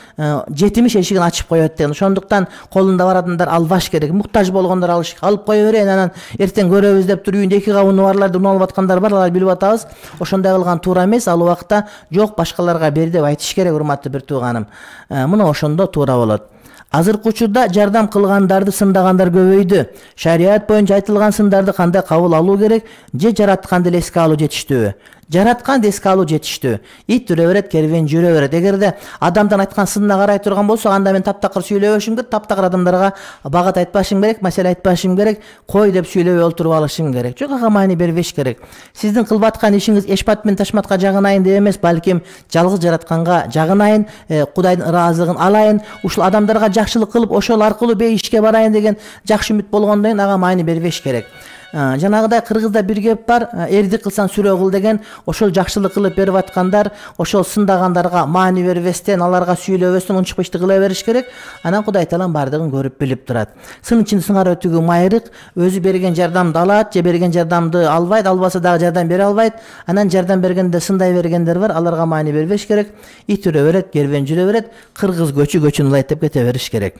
жетимиш эшигин ачып коет деген. Ошондуктан колунда бар адамдар албаш керек. Муктаж болгондор алып кое берейин, анан эртең көрөбүз деп туруп үйүндө 2 кабыны барларды алып аткандар бар, алар билип атабыз. Ошондой кылган туура эмес. Ал убакта жок башкаларга бер деп айтыш керек, урматтуу бир тууганым. Мына ошондо туура болот. Азыркы учурда жардам кылгандарды сындагандар көбөйдү. Шарият боюнча айтылган сындарды кандай кабыл алуу керек? Же жаратканды эле эске алуу жетиштүүбү? Жаратканды эске алуу жетиштүү. Ит үрө берет, кервен жүрө берет. Эгерде адамдан айткан сынына карай турган болсо, анда мен таптакыр сүйлөбөшүм керек, таптакыр адамдарга багат айтпашым керек, маселе айтпашым керек, кой деп сүйлөбөй олтуруп алышым керек. Жок, ага маани бербеш керек. Сиздин кылып аткан ишиңиз эшпат менен ташматка жагынайын деп эмес, балким жалгыз жаратканга жагынайын, Кудайдын ыраазылыгын алайын, ушул адамдарга жакшылык кылып, ошол аркылуу бейишке барайын деген жакшы үмүт болгондон кийин ага маани бербеш керек. жанагыдай кыргызда бир кеп бар, эрди кылсаң сүрө кыл деген, ошол жакшылык кылып берип аткандар, ошол сындагандарга маани бербестен, аларга сүйлөбөстөн унчукпа ишти кыла бериш керек. Анан Кудай Таалам бардыгын көрүп билип турат. Сын ичинде сыңар өтүүгө майрык, өзү берген жардамды алат, же берген жардамды албайт, албаса дагы жардам бере албайт. Анан жардам бергенде сындай бергендер бар, аларга маани бербеш керек. Ит үрө берет, кербен жүрө берет, кыргыз көчүн улайт деп кете бериш керек.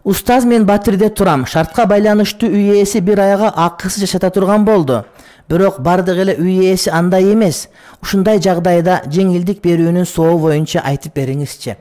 Устаз мен Батирде турам. Шартка байланыштуу үй ээси бир айга акысыз жашата турган болду. Бирок бардык эле үй ээси андай эмес. Ушундай жагдайда жеңилдик берүүнүн сообу боюнча айтып бериңизчи.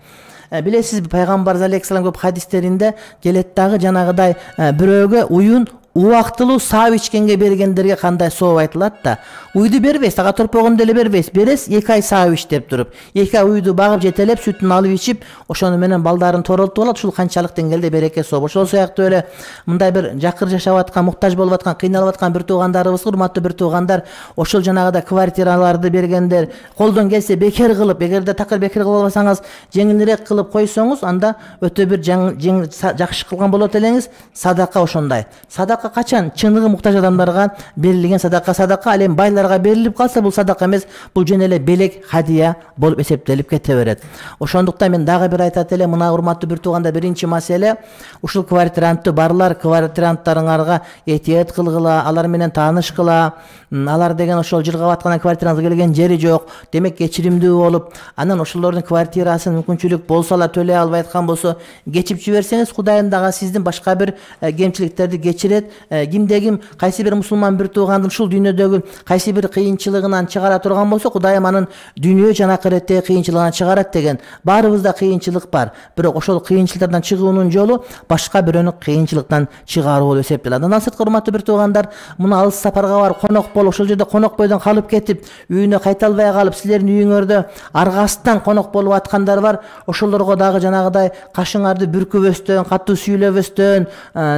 Билесиз, пайгамбар алейхиссалам көп хадистеринде келет дагы жанагыдай бирөөгө уюн убактылуу саап ичкенге бергендерге кандай сооп айтылат да. Уйду бербейсиз, ага торпогонду эле бербейсиз. Бересиз 2 ай саап ич деп туруп, 2 ай уйду багып жетелеп, сүтүн алып ичип, ошону менен балдарын торолтуп алат. Ушул канчалык деңгээлде береке сооп. Ошол сыяктуу эле мындай бир жакыр жашап аткан, муктаж болуп аткан, кыйналып аткан бир туугандарыбыз, урматтуу бир туугандар, ошол жанагыда квартираларды бергендер, колдон келсе бекер кылып, эгерде такыр бекер кыла албасаңыз, жеңилирээк кылып койсоңуз, анда өтө бир жакшы кылган болот элеңиз. Садака ошондой. Садака качан чыныгы муктаж адамдарга берилген садака, ал эми байларга берилип калса, бул садака эмес, бул жөн эле белек, хадия болуп эсептелип кете берет. Ошондуктан мен дагы бир айтат элем, мына урматтуу бир тууганда, биринчи маселе ушул квартирантты барлар, квартиранттарыңарга этият кылгыла, алар менен таанышкыла. Алар деген ошол жыргап аткан квартираңызга келген жери жок, демек кечиримдүү болуп, анан ошолордун квартирасын мүмкүнчүлүк болсо ала төлөй албай аткан болсо кечип жиберсеңиз, Кудайым дагы сиздин башка бир кемчиликтерди кечирет. Кимде ким кайсы бир мусулман бир туугандын ушул дүйнөдөгү кайсы бир кыйынчылыгынан чыгара турган болсо, Кудайым анын дүйнө жана акыреттеги кыйынчылыгынан чыгарат деген. Баарыбызда кыйынчылык бар, бирок ошол кыйынчылыктардан чыгуунун жолу башка бирөөнү кыйынчылыктан чыгаруу болуп эсептелет. Андан сырткы, урматтуу бир туугандар, мына алыс сапарга барып, конок болуп, ошол жерде конок бойдон калып кетип, үйүнө кайта албай калып, силердин үйүңөрдө аргасынан конок болуп аткандар бар. Ошолорго дагы жанагыдай кашыңарды бүркүбөстөн, катуу сүйлөбөстөн,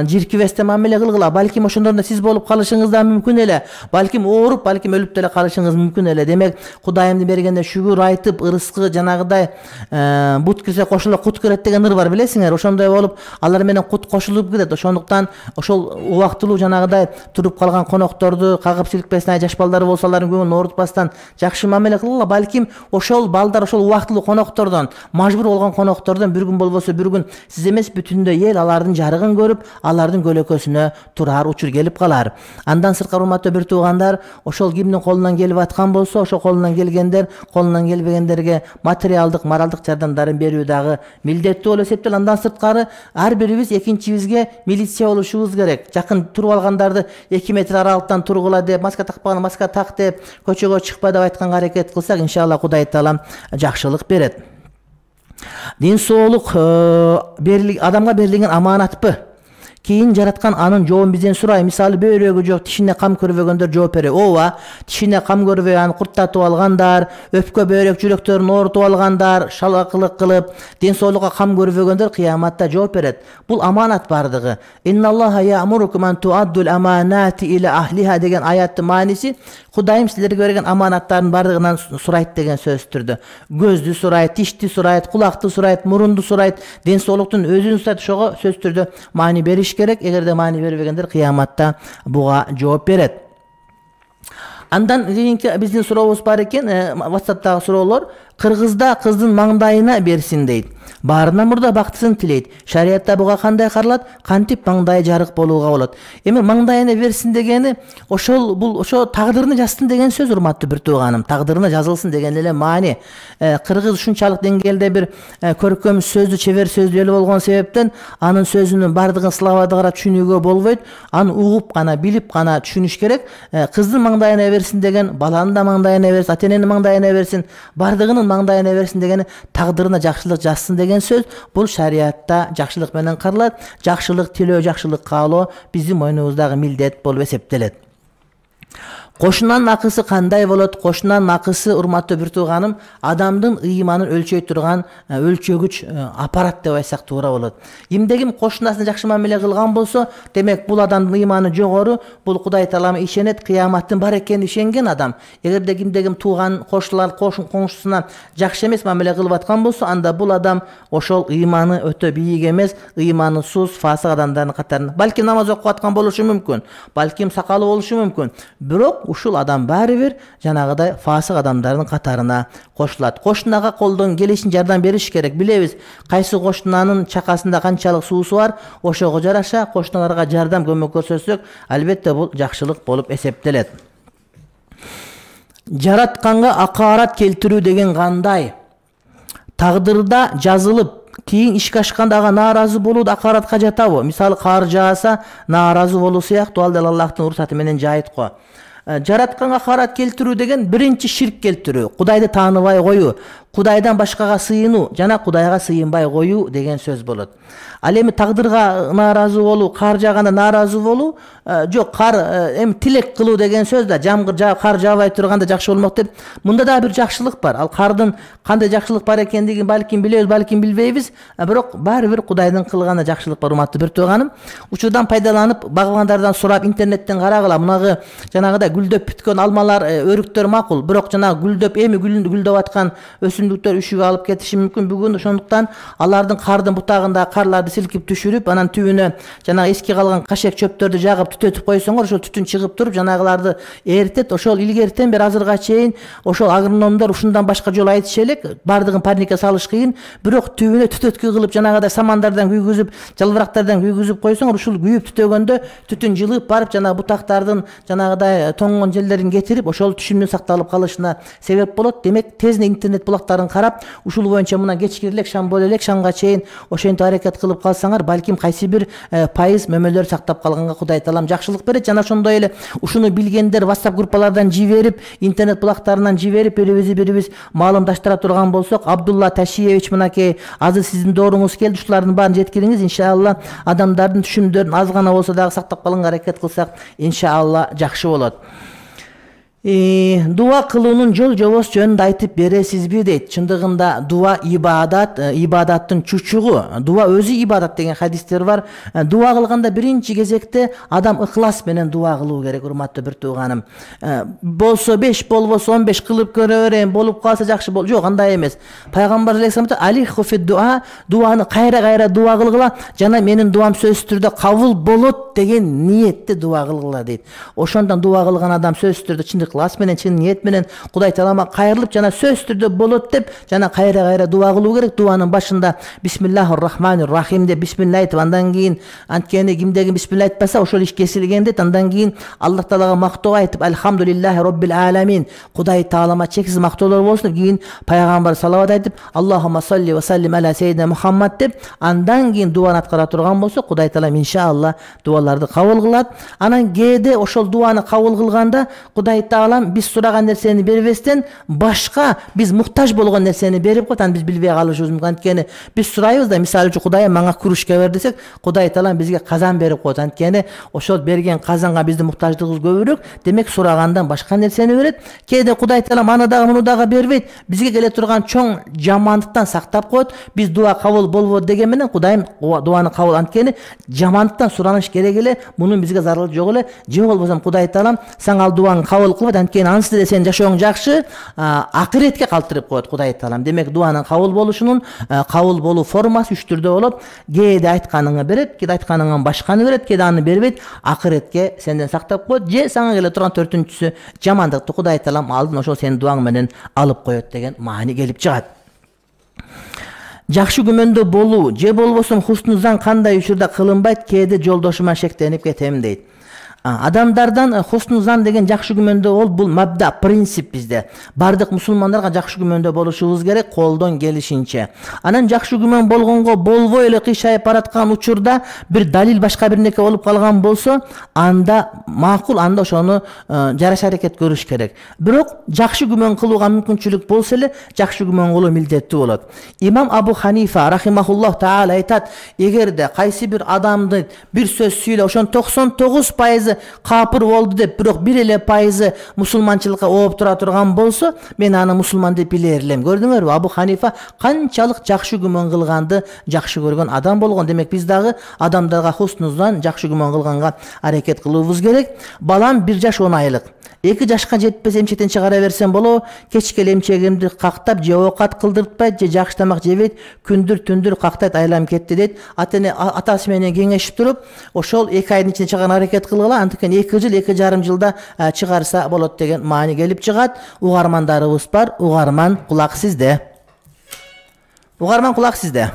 жиркибестен мамиле кылгыла. Балким ошондордо сиз болуп калышыңыз да мүмкүн эле. Балким ооруп, балким өлүп деле калышыңыз мүмкүн эле. Демек, Кудайымдын бергенде шүгүр айтып, ырыскы жанагыдай бут кирсе кошуло кут кирет деген ыр бар, билесиңер. Ошондой болуп, алар менен кут кошулуп кирет. Ошондуктан ошол убактылуу жанагыдай туруп калган конокторду кагып силкпестен, жаш балдары болсо алардын көңүлүн оорутпастан жакшы мамиле кылгыла. Балким ошол балдар ошол убактылуу коноктордон, мажбур болгон коноктордон бир күн болбосо бир күн сиз эмес, бүтүндөй эл алардын жарыгын көрүп, алардын көлөкөсүнө турар учур келип калар. Андан сырткары, урматтуу бир туугандар, ошол кимдин колунан келип аткан болсо, ошол колунан келгендер, колунан келбегендерге материалдык, моралдык жардамдарын берүү дагы милдеттүү болуп эсептелет. Андан сырткары, ар бирибиз экинчибизге милиция болушубуз керек. Жакын туруп алгандарды 2 метр аралыктан тургула деп, маска такпаган маска так деп, көчөгө чыкпа деп айтканга аракет кылсак, иншалла Кудай Таалам жакшылык берет. Дин соолук адамга берилген аманатпы? Кийин жараткан анын жообун бизден сурай. Мисалы, бөйрөгү жок, тишине кам көрбөгөндөр жооп берет. Ооба, тишине кам көрбөй аны курттатып алгандар, өпкө бөйрөк жүрөктөрүн оорутуп алгандар, шалакылык кылып, ден соолукка кам көрбөгөндөр кыяматта жооп берет. Бул аманат бардыгы. Инналлаха я'мурукум ан ту'аддул аманати иля ахлиха деген аяттын мааниси, Кудайым силерге берген аманаттардын бардыгынан сурайт деген сөздүр. Көздү сурайт, тишти сурайт, кулакты сурайт, мурунду сурайт, ден соолуктун өзүн сурайт. Ошого сөз түрдө маани бериш керек. Эгерде маани бербегендер кыяматта буга жооп берет. Андан кийинки биздин сурообуз бар экен, WhatsApp'тагы суроолор. Кыргызда кыздын маңдайына берсин дейт. Баарынан мурда бактысын тилейт. Шариятта буга кандай каралат? Кантип маңдайы жарык болууга болот? Эми маңдайына берсин дегени бул ошо тагдырына жазсын деген сөз, урматтуу бир тууганым. Тагдырына жазылсын деген эле маани. Кыргыз ушунчалык деңгээлде бир көркөм сөздү, чебер сөздүү эл болгон себептен анын сөзүнүн бардыгын сылабада карап түшүнүүгө болбойт. Аны угуп гана, билип гана түшүнүш керек. Кыздын маңдайына берсин деген, баланын да маңдайына берсин, ата-эненин маңдайына берсин, бардыгынын маңдайына берсин дегени тагдырына жакшылык жазсын деген сөз. Бул шариятта жакшылык менен каралат. Жакшылык тилөө, жакшылык каалоо биздин мойнубуздагы милдет болуп эсептелет. Кошунанын акысы кандай болот? Кошунанын акысы, урматтуу бир тууганым, адамдын ыйманын өлчөй турган өлчөгүч аппарат деп айтсак туура болот. Кимде-ким кошунасына жакшы мамиле кылган болсо, демек бул адамдын ыйманы жогору, бул Кудай Таалага ишенет, кыяматтын бар экенине ишенген адам. Эгерде кимде-ким тууган, кошулар, коңшусуна жакшы эмес мамиле кылып аткан болсо, анда бул адам ошол ыйманы өтө бийик эмес, ыйманы сус, фасык адамдардын катарына. Балким намаз окуп аткан болушу мүмкүн, балким сакалы болушу мүмкүн. Бирок ушул адам баары бир жанагыдай фасык адамдардын катарына кошулат. Кошунага колдон келишин жардам бериш керек. Билебиз, кайсы кошунанын чакасында канчалык суусу бар, ошого жараша кошуналарга жардам көмөк көрсөтсөк, албетте бул жакшылык болуп эсептелет. Жаратканга акаарат келтирүү деген кандай? Тагдырда жазылып, кийин ишке ашканда ага нааразы болуу акааратка жатабы? Мисалы, кар жааса нааразы болуу сыяктуу, ал да Аллахтын уруксаты менен жайыт го. Жаратканга акаарат келтирүү деген биринчи ширк келтирүү, Кудайды тааныбай коюу, Кудайдан башкага сыйынуу жана Кудайга сыйынбай коюу деген сөз болот. Ал эми тагдырга нааразы болуу, кар жааганда нааразы болуу, жок, кар эми тилек кылуу деген сөз да, жамгыр жаап кар жаабай турганда жакшы болмок деп. Мында да бир жакшылык бар. Ал кардын кандай жакшылык бар экендигин балким билебиз, балким билбейбиз, бирок баары бир Кудайдын кылган жакшылык бар, урматтуу бир тууганым. Учурдан пайдаланып, багыбандардан сурап, интернеттен карагыла, мунагы жанагыдай гүлдөп бүткөн алмалар, өрүктөр макул, бирок жанагы гүлдөп, эми гүлдөп аткан өсүмдүктөр үшүгө алып кетиши мүмкүн бүгүн. Ошондуктан алардын кардын бутагында карларды силкип түшүрүп, анан түбүнө жанагы эски калган кашек чөптөрдү жагып түтөтүп койсоңор, ошол түтүн чыгып туруп жанагыларды эритет. Ошол илгертен бери азырга чейин ошол агрономдор ушундан башка жол айтышы элек, бардыгын парникке салыш кыйын, бирок түбүнө түтөткү кылып жанагыдай самандардан күйгүзүп, жалбырактардан күйгүзүп койсоңор, ушул күйүп түтөгөндө түтүн жылып барып жанагы бутактардын жанагыдай тоңгон жерлерин кетирип, ошол түшүмдүн сакталып калышына себеп болот. Демек, тезинен интернет булактарын карап, ушул боюнча мына кечки элек, шам боло элек, шамга чейин ошентип аракет кылып калсаңар, балким кайсы бир пайыз мөмөлөр сактап калганга Кудай Таалам жакшылык берет. Жана ошондой эле ушуну билгендер WhatsApp группалардан жиберип, интернет булактарынан жиберип, бирибиз маалымдаштыра турган болсок, Абдулла Ташиевич, мынакей азыр сиздин дооруңуз келди, ушулардын баарын жеткириңиз. Иншалла адамдардын түшүмдөрүн аз гана болсо дагы сактап калганга аракет кылсак, иншалла жакшы болот. Дуа кылуунун жол жобосу жөнүндө айтып бересизби дейт. Чындыгында дуа ибадат, ибадаттын чучугу. Дуа өзү ибадат деген хадистер бар. Дуа кылганда биринчи кезекте адам ыхлас менен дуа кылуу керек, урматтуу бир тууганым. Болсо 5, болбосо 15 кылып көрө берем, болуп калса жакшы бол. Жок, андай эмес. Пайгамбар алейхисалам алейху фи дуа, дуаны кайра дуа кылгыла, жана менин дуам сөзсүз түрдө кабыл болот деген ниетте дуа кылгыла дейт. Ошондон дуа кылган адам сөзсүз түрдө чындык ыкылас менен, чын ниет менен Кудай Таалама кайрылып, жана сөзсүз түрдө болот деп, жана кайра дуа кылуу керек. Дуанын башында бисмиллахир рахманир рахим деп бисмилла айтып, андан кийин анткени кимдеги бисмилла айтпаса ошол иш кесилген дейт. Андан кийин Аллах Таалага мактоо айтып, альхамдулиллахи роббил аламин, Кудай Таалама чексиз мактоолор болсун деп, кийин пайгамбар салават айтып, Аллахумма салли ва саллим аля саййидина Мухаммад деп, андан кийин дуаны аткара турган болсо, Кудай Таалам иншалла дуаларды кабыл кылат. Анан кээде ошол дуаны кабыл кылганда Кудай Таалам биз сураган нерсени бербестен башка биз муктаж болгон нерсени берип коет. Аны биз билбей калышыбыз мүмкүн. Анткени биз сурайбыз да, мисалы үчүн Кудайым мага кружка бер десек, Кудай Таалам бизге казан берип коет. Анткени ошол берген казанга биздин муктаждыгыбыз көбүрөөк. Демек сурагандан башка нерсени берет. Кээде Кудай Таалам аны дагы муну дагы бербейт. Бизге келе турган чоң жамандыктан сактап коет. Биз дуа кабыл болбойт деген менен Кудайым дуаны кабыл. Анткени жамандыктан сураныш керек эле, мунун бизге зарылы жок эле. Же болбосо Кудай Таалам сага ал дуаңы кабыл кылбайт. Анткени анысы деле сенин жашооң жакшы, акыретке калтырып коет Кудай Таалам. Демек дуанын кабыл болушунун кабыл болуу формасы үч түрдө болот. Кээде айтканыңы берет, кээде айтканыңан башканы берет, кээде аны бербейт, акыретке сенден сактап коет. Же сага келе турган төртүнчүсү жамандыкты Кудай Таалам алдын ошол сенин дуаң менен алып коет деген маани келип чыгат. Жакшы күмөндө болуу же болбосо хуснузан кандай учурда кылынбайт, кээде жолдошума шектенип кетем дейт. Адамдардан хуснузан деген жакшы күмөндө бол, бул мабда, принцип бизде. Бардык мусулмандарга жакшы күмөндө болушубуз керек, колдон келишинче. Анан жакшы күмөн болгонго болбой эле кыйшайып бараткан учурда бир далил башка бир неке болуп калган болсо, анда макул, анда ошону жараша аракет көрүш керек. Бирок жакшы күмөн кылууга мүмкүнчүлүк болсо эле жакшы күмөн кылуу милдеттүү болот. Имам Абу Ханифа рахимахуллах таала айтат, эгерде кайсы бир адамды бир сөз сүйлөп, ошонун 99% азыр капыр болду деп, бирок бир эле пайызы мусулманчылыкка ооп тура турган болсо, мен аны мусулман деп билер элем. Көрдүңөрбү? Абу Ханифа канчалык жакшы күмөн кылганды жакшы көргөн адам болгон. Демек биз дагы адамдарга хуснуздан жакшы күмөн кылганга аракет кылуубуз керек. Балам 1 жаш 10 айлык. 2 жашка жетпесе эмчектен чыгара берсем болобу? Кечке эмчегимди кактап, же оокат кылдыртпайт, же жакшы тамак жебейт, күндүр кактайт, айлам кетти дейт. Атасы менен кеңешип туруп, ошол 2 айдын ичинде чыгарга аракет кылгыла. Антикен 2 жыл, 2,5 жылда чыгарса болот деген маани келип чыгат. Угармандарыбыз бар. Угарман, кулак сизде. Угарман, кулак сизде.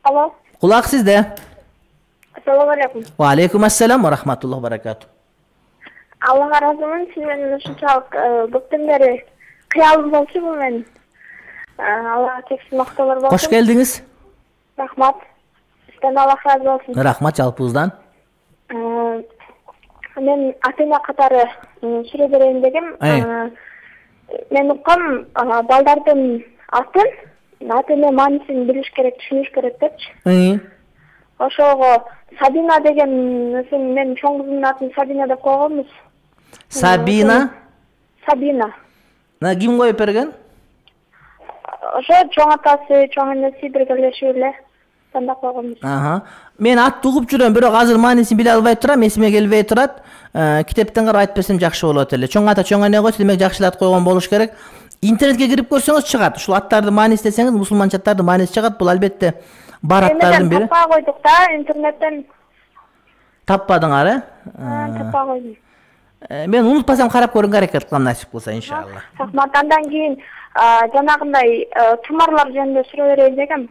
Алло. Кулак сизде. Assalamu alaikum. Wa alaikum assalam wa rahmatullahi wa barakatuh. Аллага разымын, сиз менен ушунчалык көптөн бери кыялым болчу бул менин. Аллага чексиз мактоолор болсун. Кош келдиңиз. Рахмат. Сизден Аллах разы болсун. Рахмат жалпыбыздан. Мен ата-эне катары сүрө берейин дегем. Мен уккам балдардын ата-эне маанисин билиш керек, түшүнүш керек депчи. Ошого Сабина деген мен чоң кызымдын атын Сабина деп койгонбуз. Сабина? Сабина. Ким коюп берген? Ошо чоң атасы, чоң энеси биргелешип эле тандап койгонбуз. Мен атты угуп жүрөм, бирок азыр маанисин биле албай турам, эсиме келбей турат. Китептен карап айтып берсем жакшы болот эле. Чоң ата, чоң эне койсо, демек жакшы эле ат койгон болуш керек. Интернетке кирип көрсөңүз чыгат. Ушул аттарды мааниси десеңиз, мусулманча аттарды мааниси чыгат. Бул албетте бар аттардын бири. Таппа койдук да, интернеттен. Таппадыңар, Таппа койдум. Мен унутпасам карап көрүүгө аракет кылам, насип кылса, иншалла. Рахмат. Андан кийин жанагындай тумарлар жөнүндө суроо берейин дегем.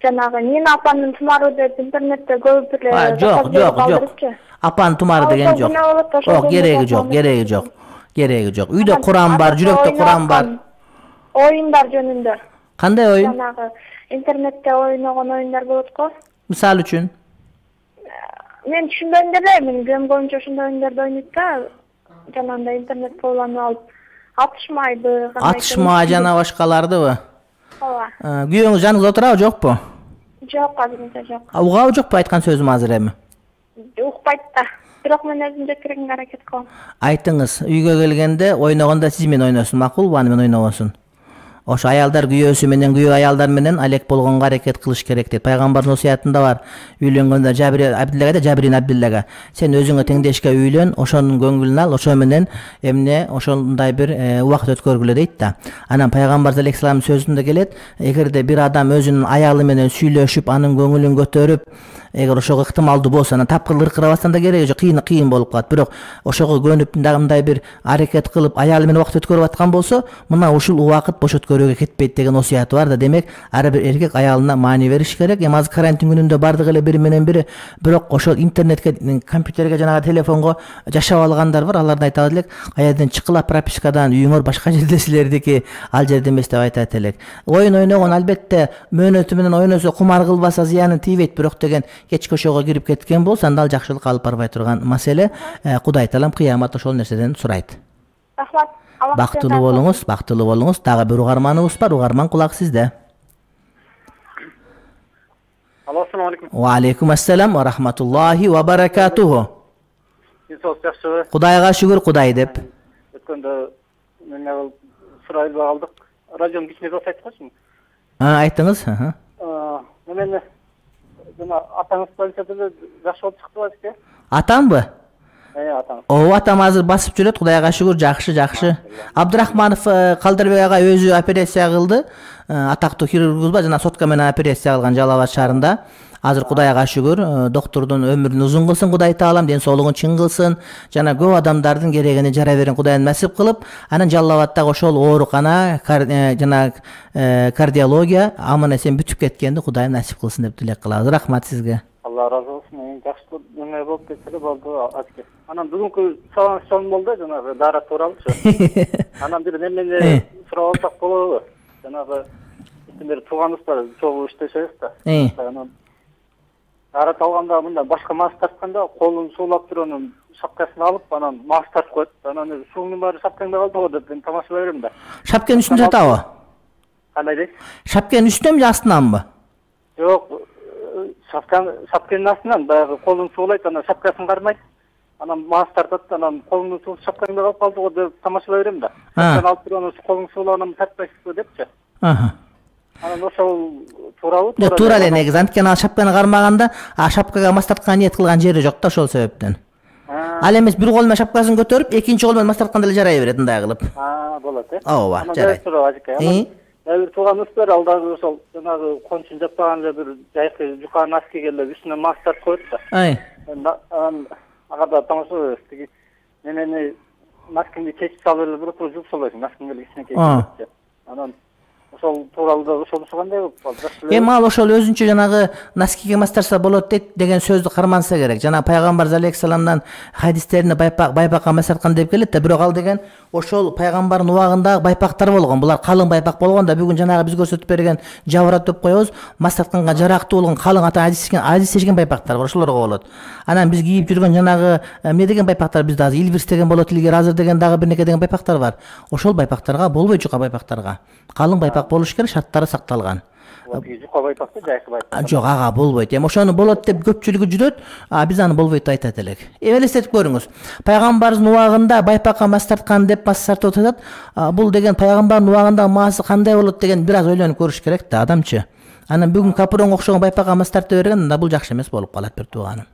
Жанагы Нина апанын тумары деп интернетте көп эле жок. Апанын тумары деген жок. Жок, кереги жок. Үйдө Куран бар, жүрөктө Куран бар. Оюндар жөнүндө. Кандай оюн? Жанагы интернетте ойногон оюндар болот го. Мисалы үчүн? Мен түшүнбөйм деле, мен билем боюнча ошондой оюндарды ойнойт да. Жанагындай интернет коллонуп алып атышмайбы, атышма жана башкалардыбы? Ооба. Күйөөңүз жаныңызда отурабы, жокпу? Жок, азырынча жок. Угабы жокпу айткан сөзүм азыр эми? Укпайт да. Бирок мен өзүм жеткиргенге аракет кылам. Айтыңыз, үйгө келгенде ойногондо сиз менен ойносун, макулбу, аны менен ойнобосун? Ошо аялдар күйөөсү менен, күйөө аялдар менен алек болгонго аракет кылыш керек дейт. Пайгамбардын осуятында бар. Үйлөнгөндө Жабирин Абдиллага, сен өзүңө теңдешке үйлөн, ошонун көңүлүн ал, ошо менен эмне ошондой бир убакыт өткөргүлө дейт да. Анан Пайгамбар алейхиссаламдын сөзүндө келет, эгерде бир адам өзүнүн аялы менен сүйлөшүп, анын көңүлүн көтөрүп, эгер ошого ыктымалдуу болсо, анан тапкыр ыркырабастан да кереги жок, кыйын болуп калат. Бирок ошого көнүп мындай бир аракет кылып, аялы менен убакыт өткөрүп аткан болсо, мына ушул убакыт бош өткөрүүгө кетпейт деген осуяты бар да. Демек, ар бир эркек аялына маани бериш керек. Эми азыр карантин күнүндө бардык эле бири менен бири, бирок ошол интернетке, компьютерге, жанагы телефонго жашап алгандар бар. Аларды айтат элек, каяден чыккыла пропискадан, үйүңөр башка жерде силердики, ал жерде эмес деп айтат элек. Оюн ойногон албетте мөөнөтү менен ойносо, кумар кылбаса зыяны тийбейт, бирок деген кечки ошого кирип кеткен болсо, анда ал жакшылыкка алып барбай турган маселе. Кудай таалам кыямат ошол нерседен сурайт. Рахмат. Бактылуу болуңуз. Дагы бир угарманыбыз бар. Угарман, кулак сизде. Алло, ассаламу алейкум. Ва алейкум ассалам ва рахматуллахи ва баракатуху. Сиз жакшыбы? Кудайга шүгүр, Кудай деп. Өткөндө мен сурай албай калдык. Радионун кичине дос айткачы. Айттыңыз. Мен жана атаңыз полицияда жакшы болуп чыктыбы азыр? Атамбы? Атам. Атам азыр басып жүрөт, Кудайга шүгүр, жакшы. Абдырахманов Калдырбек ага өзү операция кылды. Атактуу хирургбуз, жана сотка менен операция кылган Жалал Абад шаарында. Азыр Кудайга шүгүр, доктордун өмүрүн узун кылсын Кудай таалам, ден соолугун чың кылсын. Жана көп адамдардын керегине жара берин Кудайым насип кылып, анан Жалал Абадтагы ошол оорукана, жана кардиология аман-эсен бүтүп кеткенди Кудайым насип кылсын деп тилек кылабыз. Рахмат сизге. Алла разы болсун. Жакшы эме болуп кетсе болду азыр. Анан бүгүнкү салам болду, жанагы дара тууралычы. Анан бир эмне сурап алсак болобу? Жанагы бир тууганыбыз бар, чогуу иштешебиз да. Анан арат алганда мындай башка мас тартканда колун суулап туруп анан шапкасын алып, анан мас тартып коет. Анан суунун баары шапкаңда калды го деп мен тамаша берем да. Шапканын үстүндө жатабы? Кандай дейт? Шапканын үстүнөнбү же астынанбы? Жок, шапканын астынан баягы колун суулайт, анан шапкасын кармайт. Анан маас тартат, анан колуңду суулап шапкаңда калып калды го деп тамашалай берем да. Шапканы алып туруп анан колуң суулагандан тартпайсызбы депчи. Анан ошол туурабы? Туура эле негизи. Анткени ал шапканы кармаганда, шапкага мас тарткан ниет кылган жери жок да, ошол себептен. Ал эмес бир кол менен шапкасын көтөрүп, экинчи кол менен мас тартканда эле жарай берет, мындай кылып. Болот э. Ооба, жарайт. Бир тууганыбыз бар, ал дагы ошол жанагы кончун жаппаган эле бир жайкы жука носкиге эле үстүнө мас тартып коет да. Анан ага да тамашалайбыз. Тиги немени носкиңди чечип салып эле бирок жууп салбайсың, носкиң эле кичинекей. Анан ошол тууралуу да ошонусу кандай болуп калды? Эми ал ошол өзүнчө жанагы носкиге мас тартса болот дейт деген сөздү карманса керек. Жана пайгамбар алейхиссаламдан хадистерине байпакка мас тарткан деп келет да, бирок ал деген ошол пайгамбардын убагындагы байпактар болгон. Булар калың байпак болгон да, бүгүн жанагы биз көрсөтүп берген жаврат деп коебуз, мас тартканга жарактуу болгон калың ата адис чечкен байпактар бар, ошолорго болот. Анан биз кийип жүргөн жанагы эмне деген байпактар бизде азыр Илбирс деген болот, илгери азыр деген дагы бир неке деген байпактар бар. Ошол байпактарга болбойт, жука байпактарга. Калың байпак болуш керек, шарттары сакталган. Жука байпакты жайкы байпак. Жок, ага болбойт. Эми ошону болот деп көпчүлүгү жүрөт, биз аны болбойт деп айтат элек. Элестетип көрүңүз. Пайгамбардын убагында байпакка мас тарткан деп мас тартып атат. Бул деген пайгамбардын убагында маасы кандай болот деген бир аз ойлонуп көрүш керек да адамчы. Анан бүгүн капуронго окшогон байпакка мас тартып берген да, бул жакшы эмес болуп калат бир тууганым.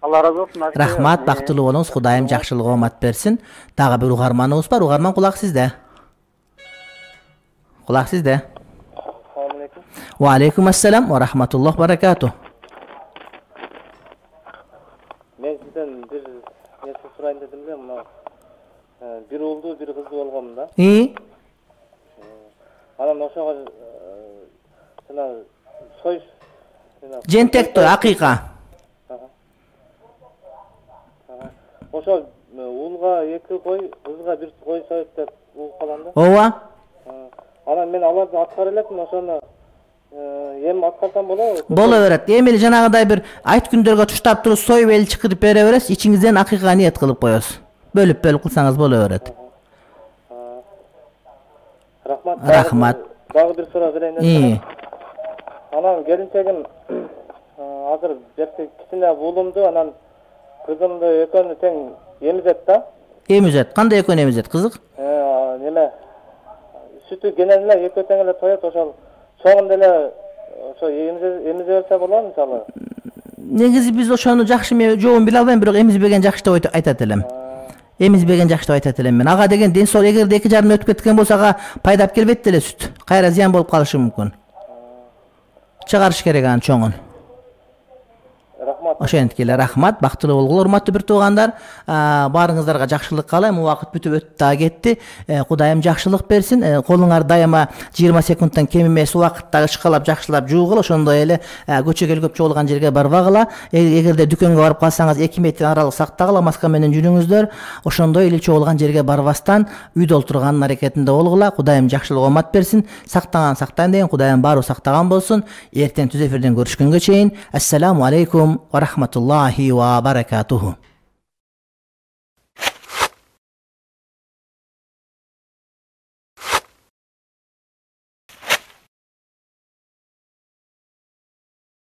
Алла разы болсун. Рахмат, бактылуу болуңуз. Кудайым жакшылык оомат берсин. Дагы бир угарманыбыз бар. Угарман, кулак сизде. Кулак сизде. Ва алейкум ассалам ва рахматуллах баракату. Мен сизден бир нерсе сурайын дедим эле, мына бир уулду, бир кызды болгом да. Анан ошого жана сой жентек той, акыйка. Ошо уулга 2 кой, кызга 1 кой союп деп угуп калам да. Ооба. Анан мен аларды аткара элекмин, ошону эми аткарсам болобу? Боло берет. Эми эле жанагыдай бир айт күндөргө туштап туруп союп эл чакырып бере бересиз, ичиңизден акыйка ниет кылып коесуз. Бөлүп кылсаңыз боло берет. Рахмат. Дагы бир суроо берейин. Анан келинчегим азыр жерде кичине уулумду, анан кызымды экөөнү тең эмизет да. Эмизет. Кандай экөөнү эмизет, кызык? Неме сүтү кенен эле экөө тең эле тоет, ошол чоңунда эле ошо эмизе берсе болобу мисалы? Негизи биз ошону жакшы жообун биле албайм, бирок эмизбеген жакшы деп айтат элем. Эмизбеген жакшы деп айтат элем мен. Ага деген ден соолук, эгерде 2 жарым өтүп кеткен болсо ага пайдап келбейт эле сүт. Кайра зыян болуп калышы мүмкүн. Чыгарыш керек анын чоңун. Ошентип эле рахмат, бактылуу болгула урматтуу бир туугандар. Баарыңыздарга жакшылык каалайм. Убакыт бүтүп өтүп да кетти. Кудайым жакшылык берсин. Колуңар дайыма 20 секундтан кем эмес убакытта ышкалап жакшылап жуугула, ошондой эле көчөгө көп чогулган жерге барбагыла. Эгерде дүкөнгө барып калсаңыз 2 метр аралык сактагыла, маска менен жүрүңүздөр. Ошондой эле чогулган жерге барбастан үйдө олтурганын аракетинде болгула. Кудайым жакшылык оомат берсин. Сактаган сактайын деген Кудайым баары сактаган болсун. Эртең түз эфирден көрүшкөнгө чейин. Ассаламу алейкум ва рахматуллахи ва баракатуху.